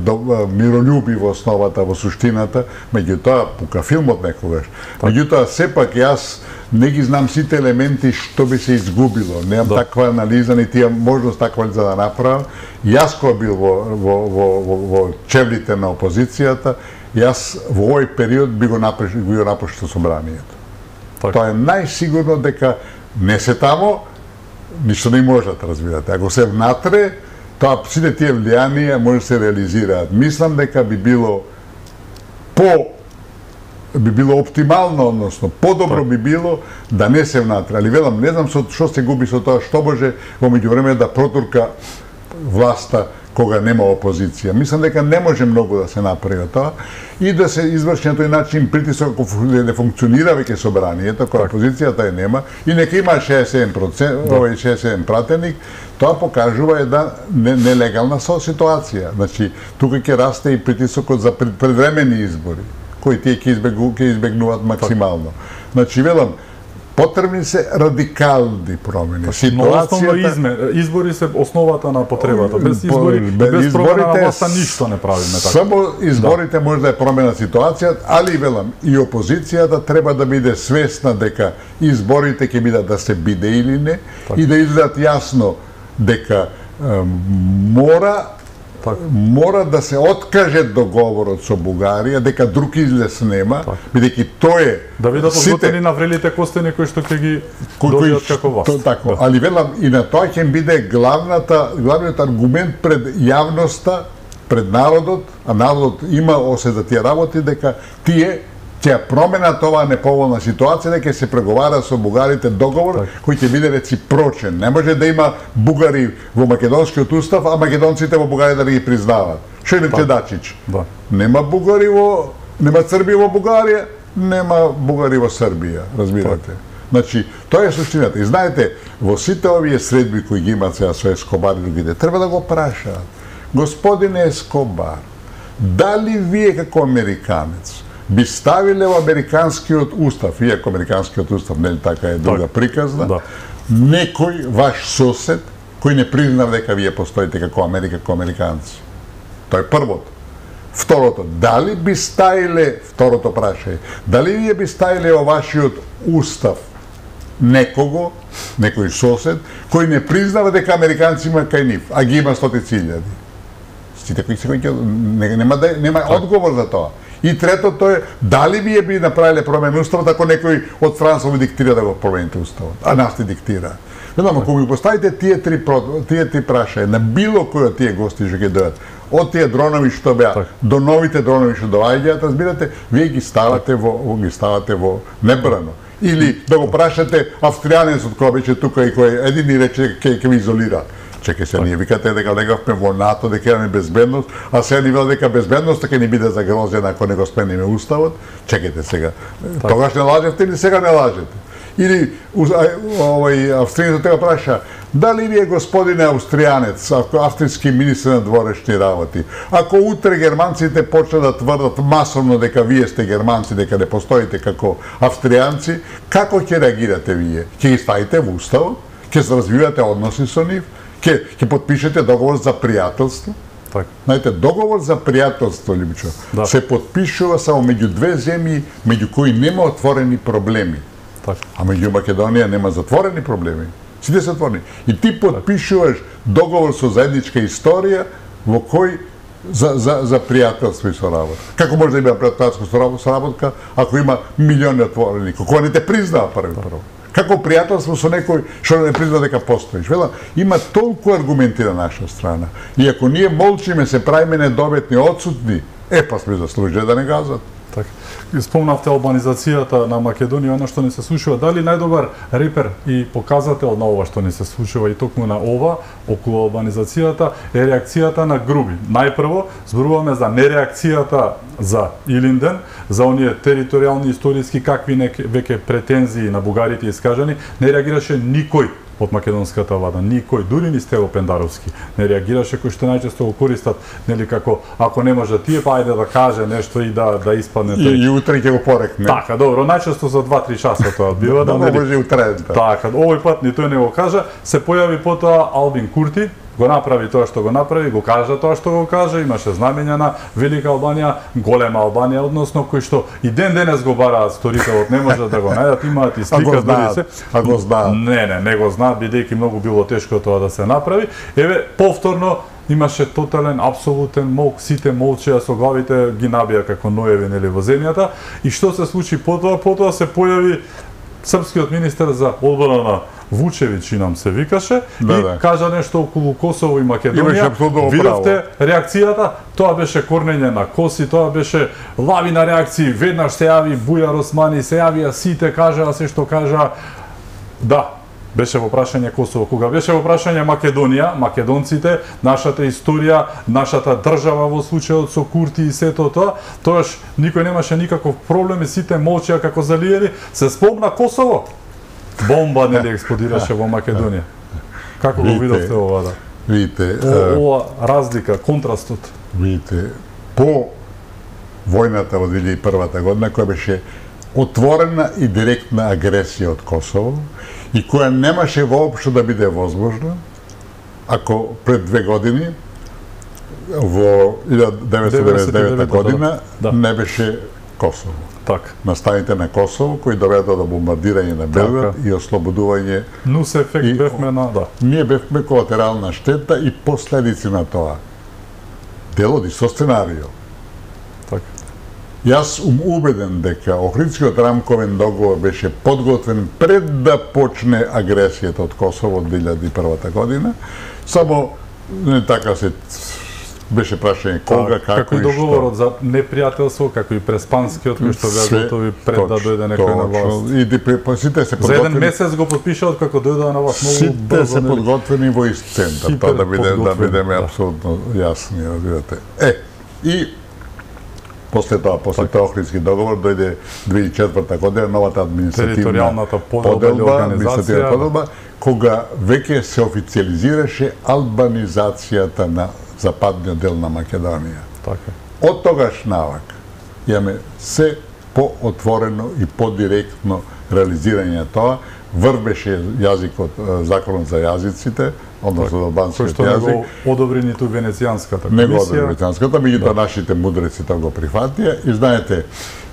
[SPEAKER 2] миролюби во основата, во суштината, меѓутоа пука филмот некогаш. Меѓутоа сепак јас не ги знам сите елементи што би се изгубило. Немам таква анализа, нити имам можност таква анализа да направам. Јас кој бил во чевлите на опозицијата, јас во овој период би го напуштил собранието. Тоа е најсигурно дека не се тамо, ништо не можат, разбирате. Ако се внатре, тоа сите тие влијанија може да се реализираат. Мислам дека би било оптимално, односно подобро би било да не се внатре. Али велам, не знам што се губи со тоа, што може во меѓувреме да протурка власта кога нема опозиција. Мислам дека не може многу да се направи тоа и да се изврши на тој начин притисок ако не функционира веќе собранието, кога опозицијата е нема и нека има 67 пратеник, тоа покажува една нелегална ситуација. Значи, тука ќе расте и притисокот за предвремени избори, кои тие ќе избегнуваат максимално. Значи, велам, потребни се радикални промени.
[SPEAKER 1] Ситуацијата... избори се основата на потребата. Без избори, без промена на власта ништо не правиме така.
[SPEAKER 2] Само изборите може да е промена ситуацијата, али велам, и опозицијата треба да биде свесна дека изборите ќе бидат да се биде или не и да изгледат јасно дека мора да се откаже договорот со Бугарија, дека друг излез нема, бидејќи тој е...
[SPEAKER 1] Да бидат одготвени на врелите костени кои што ќе ги добијат како власт.
[SPEAKER 2] Тако, али велам, и на тоа ќе биде главниот аргумент пред јавноста, пред народот, а народот има осет за тие работи, дека тие ќе променат оваа неповолна ситуација, дека се преговара со бугарите договор кој ќе биде реципрочен. Не може да има бугари во македонскиот устав, а македонците во Бугарија да ги признаваат. Што е Дачич? Нема бугари нема Срби во Бугарија, нема бугари во Србија, разбирате. Значи, тоа е суштината. И знаете, во сите овие средби кои ги имаат сега со Ескобар и другите, треба да го прашаат. Господине Ескобар, дали вие како американец би ставиле во американскиот устав, иако американскиот устав не така е друга приказна, некој ваш сосед кој не признав дека вие постоите како Америка, како американци? Тоа е првото. Второто, дали би ставиле, второто прашање, дали вие би ставиле во вашиот устав некој сосед кој не признава дека американци има кај нив, а ги има 100.000? Сите кои нема одговор за тоа. И третото е, дали вие би направиле промена уставот ако некој од странство ви диктира да го промените уставот, а нас ти диктира. Ведам, ако ми поставите тие три прашања на било кој од тие гости што ќе дојдат, од тие дронови што беа до новите дронови што доаѓаат, разбирате, вие ги ставате во небрано. Или да го прашате австријанецот кој беше тука и кој един ни рече ќе ви изолира. Чекај се, ние викате дека легавме во НАТО, дека имаме безбедност, а сега ни вел дека безбедноста ќе ни биде загрозена ако не го спремиме уставот. Чекајте сега. Тогаш не лажевте или сега не лажете? Или австријанецот тега праша, дали вие господине австријанец, австријски министр на дворешни работи, ако утре германците почнат да тврдат масовно дека вие сте германци, дека не постоите како австријанци, како ќе реагирате вие? Ќе ги ставите во уставот? Ќе се развивате односи со нив? Ќе подпишете договор за пријателство? Знаете, договор за пријателство, Либичо, се подпишува само меѓу две земји, меѓу кои нема отворени проблеми. А меѓу Македонија нема затворени проблеми. Сите се отворени. И ти подпишуваш договор со заедничка историја во кој за пријателство и соработка. Како може да има пријателство соработка ако има милиони отворени, кога не те признава прво? Како пријателство со некој што не призна дека постоиш? Вела, има толку аргументи на наша страна. И ако ние молчиме, се правиме недометни, отсутни, па сме заслужили да не газат.
[SPEAKER 1] Така. Спомнавте албанизацијата на Македонија, она што ни се случува. Дали најдобар репер и показател на ова што ни се случува и токму на ова, околу албанизацијата, е реакцијата на Груби. Најпрво, зборуваме за нереакцијата за Илинден, за оние територијални историски какви веќе претензии на бугарите искажани, не реагираше никој од македонската влада, никој, дури ни Стево Пендаровски, не реагираше, кој што најчесто го користат, нели како ако не може тие, па ајде да каже нешто и да испадне тој.
[SPEAKER 2] И утре ќе го порекне.
[SPEAKER 1] Така, добро, најчесто за 2-3 часа тоа бива,
[SPEAKER 2] да може и утре.
[SPEAKER 1] Така, овој пат ни тој не го кажа, се појави потоа Албин Курти, го направи тоа што го направи, го кажа тоа што го кажа, имаше знамења на Велика Албанија, голема Албанија, односно кој што и ден денес го бараат сторителот, не можат да го најдат, имаат и слика дури се.
[SPEAKER 2] А го знаат.
[SPEAKER 1] Не го знаат, бидејќи многу било тешко тоа да се направи. Еве, повторно имаше тотален, апсолутен мок, сите молчеа со главите ги набија како ноеви нели во земјата. И што се случи потоа? Потоа се појави српскиот министер за одбрана Вучевич, нам се викаше, и кажа нешто околу Косово и Македонија. Видовте реакцијата? Тоа беше корнење на коси, тоа беше лавина реакции. Веднаш се јави Бујар Османи, се јавија сите, кажаа се што кажаа. Да, беше во прашање Косово. Кога беше во прашање Македонија, македонците, нашата историја, нашата држава во случајот со Курти и сето тоа, тоаш никој немаше никаков проблем и сите молчеа како залиери. Се спомна Косово. Бомба нели експлодираше во Македонија. Како го видовте ова, да?
[SPEAKER 2] Видите,
[SPEAKER 1] ова разлика, контрастот.
[SPEAKER 2] Видите, по војната во 2001 година, која беше отворена и директна агресија од Косово и која немаше воопшто да биде возможна, ако пред 2 години, во 1999 година, не беше Косово.
[SPEAKER 1] Така.
[SPEAKER 2] Настаните на Косово, кои доведоа до бомбардирање на Белград и ослободување.
[SPEAKER 1] Нус ефект бевме на, да.
[SPEAKER 2] Ние бевме колатерална штета и последици на тоа. Делоди со сценарио.
[SPEAKER 1] Така.
[SPEAKER 2] Јас убеден дека Охридскиот рамковен договор беше подготвен пред да почне агресијата од Косово од 2001 година, само не така се беше прашање кога, како и што. Како и
[SPEAKER 1] договорот за непријателство, како и преспанскиот, кој што беа готови пред да дојде некој на власт.
[SPEAKER 2] И сите се подготвени.
[SPEAKER 1] За еден месец го подпишаат како дојдоа на власт многу брзо.
[SPEAKER 2] Сите се подготвени во ист центар, тоа да бидеме апсолутно јасни, разбирате. И после тоа Охридски договор дојде 2004 година новата административна поделба, кога веќе се официализираше албанизацијата на западниот дел на Македонија.
[SPEAKER 1] Така.
[SPEAKER 2] Од тогаш навак имаме се поотворено и подиректно реализирање на тоа. Врбеше јазикот, законот за јазиците, односно за албанскиот јазик.
[SPEAKER 1] Кој што не го одобри ниту Венецијанската комисија.
[SPEAKER 2] Не го одобри Венецијанската, меѓутоа нашите мудреци тоа го прифатија. И знаете,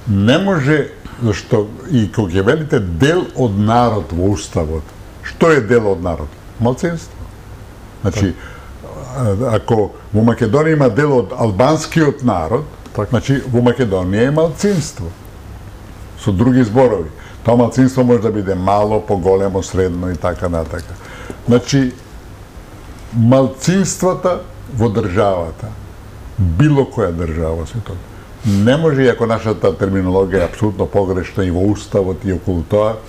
[SPEAKER 2] не може, зашто и кога ќе велите дел од народ во уставот, што е дел од народ? Малцинство. Значи, ако во Македонија има дел од албанскиот народ, значи во Македонија е малцинство. Со други зборови. Тоа малцинство може да биде мало, поголемо, средно и така натака. Значи, малцинствата во државата, било која држава се тоа, не може, иако нашата терминологија е апсолутно погрешна и во уставот и околу тоа,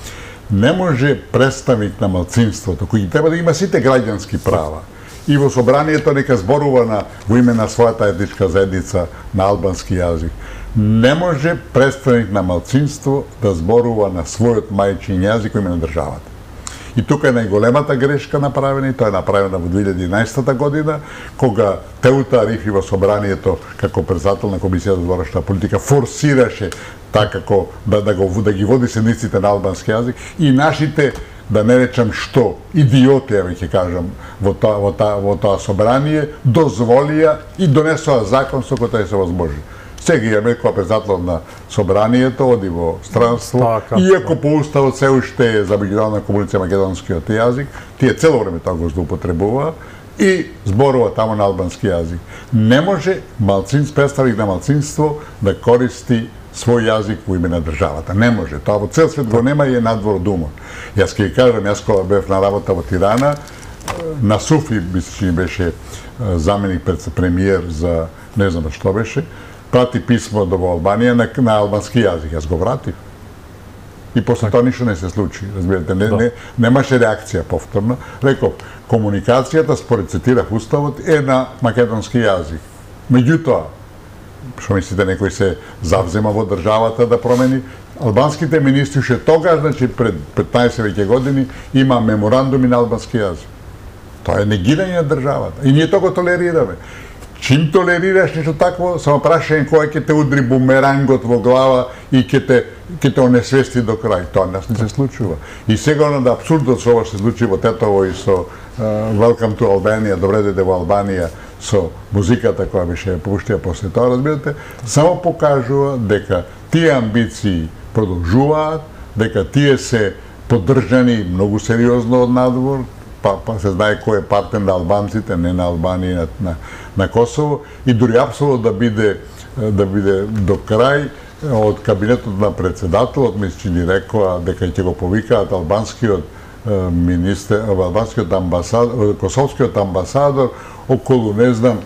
[SPEAKER 2] не може представник на малцинството, кој треба да има сите граѓански права, и во собранието нека зборува во име на својата етничка заедница на албански јазик. Не може представник на малцинство да зборува на својот мајчин јазик во име на државата. И тука е најголемата грешка направена, и тоа е направена во 2011 година, кога Теута Арифи во собранието, како председател на Комисија за зборачна политика, форсираше така да ги води седниците на албански јазик, и нашите, да не речам што, идиоти, ќе кажам, во тоа собрание, дозволија и донесоа закон со кој тоа се возможи. Сега имаме која председател на собранието, оди во странство, иако по уставот се уште е за меѓународна комуниција македонскиот јазик, тие цело време тоа го злоупотребува, и зборува таму на албански јазик. Не може представник на малцинство да користи свој јазик во име на државата. Не може. Тоа во цел свет го нема и е надвор од умот. Јас ќе кажам, јас кога бев на работа во Тирана, на Суфи беше заменик премиер за не знам што беше, прати писмо до Албанија на албански јазик. Јас го вратив. И после тоа ништо не се случи, разбирате, немаше реакција повторно. Реков, комуникацијата, според цитирав уставот, е на македонски јазик. Меѓутоа, што мислите, некој се завзема во државата да промени? Албанските министри ше тогаш, значи пред 15 веќе години, има меморандуми на албански јазик. Тоа е негирање на државата. И ние тоа го толерираме. Чим толерираш нешто такво, само прашање кој ќе те удри бумерангот во глава и ќе те онесвести до крај. Тоа нас не се случува. И сега да апсурдот со ова се случи во Тетово и со Welcome to Albania, добре дојде во Албанија, со музиката која беше пуштија после тоа, разбирате, само покажува дека тие амбиции продолжуваат, дека тие се поддржани многу сериозно од надвор, па се знае кој е партнер на албанците, не на Албанија, на Косово, и дури апсолутно да биде до крај од кабинетот на председателот, мисли ни рекоа дека ќе го повикаат албанскиот министер, албанскиот амбасадор, косовскиот амбасадор околу, не знам,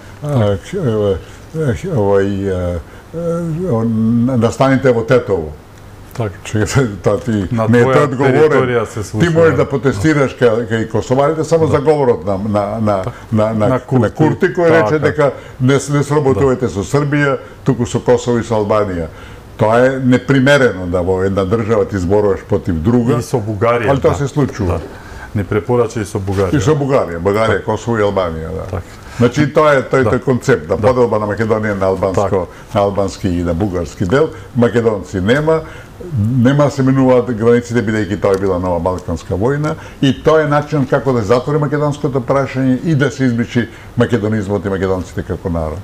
[SPEAKER 2] настаните во Тетово. Тоа ти не е одговорен. Ти можеш да протестираш кај косоварите само за говорот на Курти, кој рече дека не сработувате со Србија, туку со Косово и со Албанија. Тоа е непримерено да во една држава ти зборуваш против друга.
[SPEAKER 1] И со Бугарија.
[SPEAKER 2] Ali тоа се случува.
[SPEAKER 1] Не препорача и со Бугарија.
[SPEAKER 2] И со Бугарија, Косово и Албанија, да. Значи тоа е тој концепт, да поделба на Македонија на албански и на бугарски дел, македонци нема се менуваат границите, бидејќи тоа е била нова Балканска војна, и тоа е начин како да затвори македонското прашање и да се избричи македонизмот и македонците како народ.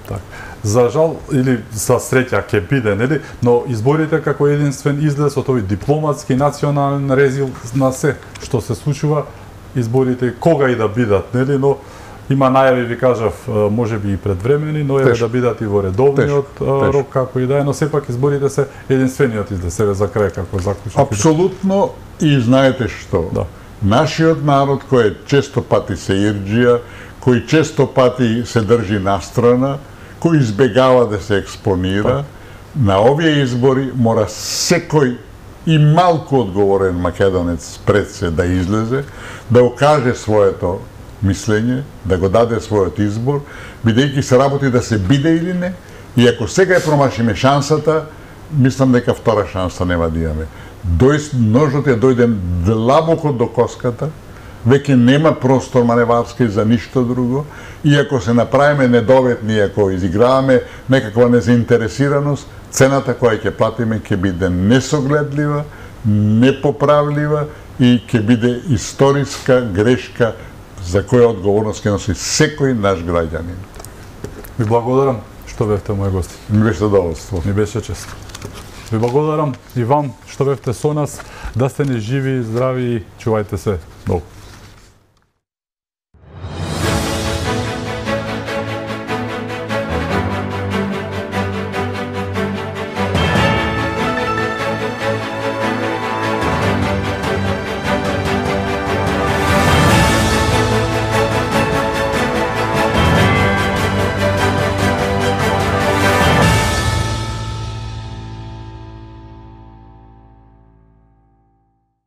[SPEAKER 1] За жал или за среќа ќе биде, нели, но изборите како единствен излез од овој дипломатски национален резил на се што се случува, изборите кога и да бидат, нели, но има најави, ви кажав, можеби и предвремени, но еве да бидат и во редовниот рок како и да е, но сепак изборите се единствениот излез, сега за крај како заклучок.
[SPEAKER 2] Апсолутно, и знаете што? Нашиот народ кој често пати се ирџија, кој често пати се држи настрана, кој избегава да се експонира, на овие избори мора секој и малку одговорен македонец пред се да излезе, да окаже своето мислење, да го даде својот избор, бидејќи се работи да се биде или не, и ако сега ја промашиме шансата, мислам дека втора шанса нема да имаме. Ножот е дојден длабоко до коската, веќе нема простор маневарски за ништо друго, и ако се направиме недоветни, ако изиграваме некаква незаинтересираност, цената која ќе платиме ќе биде несогледлива, непоправлива и ќе биде историска грешка за која одговорност ќе носи секој наш граѓанин.
[SPEAKER 1] Ви благодарам што бевте мој гости.
[SPEAKER 2] Ми беше задоволство.
[SPEAKER 1] Ми беше чест. Ви благодарам и вам што бевте со нас, да сте ни живи, здрави и чувајте се долго.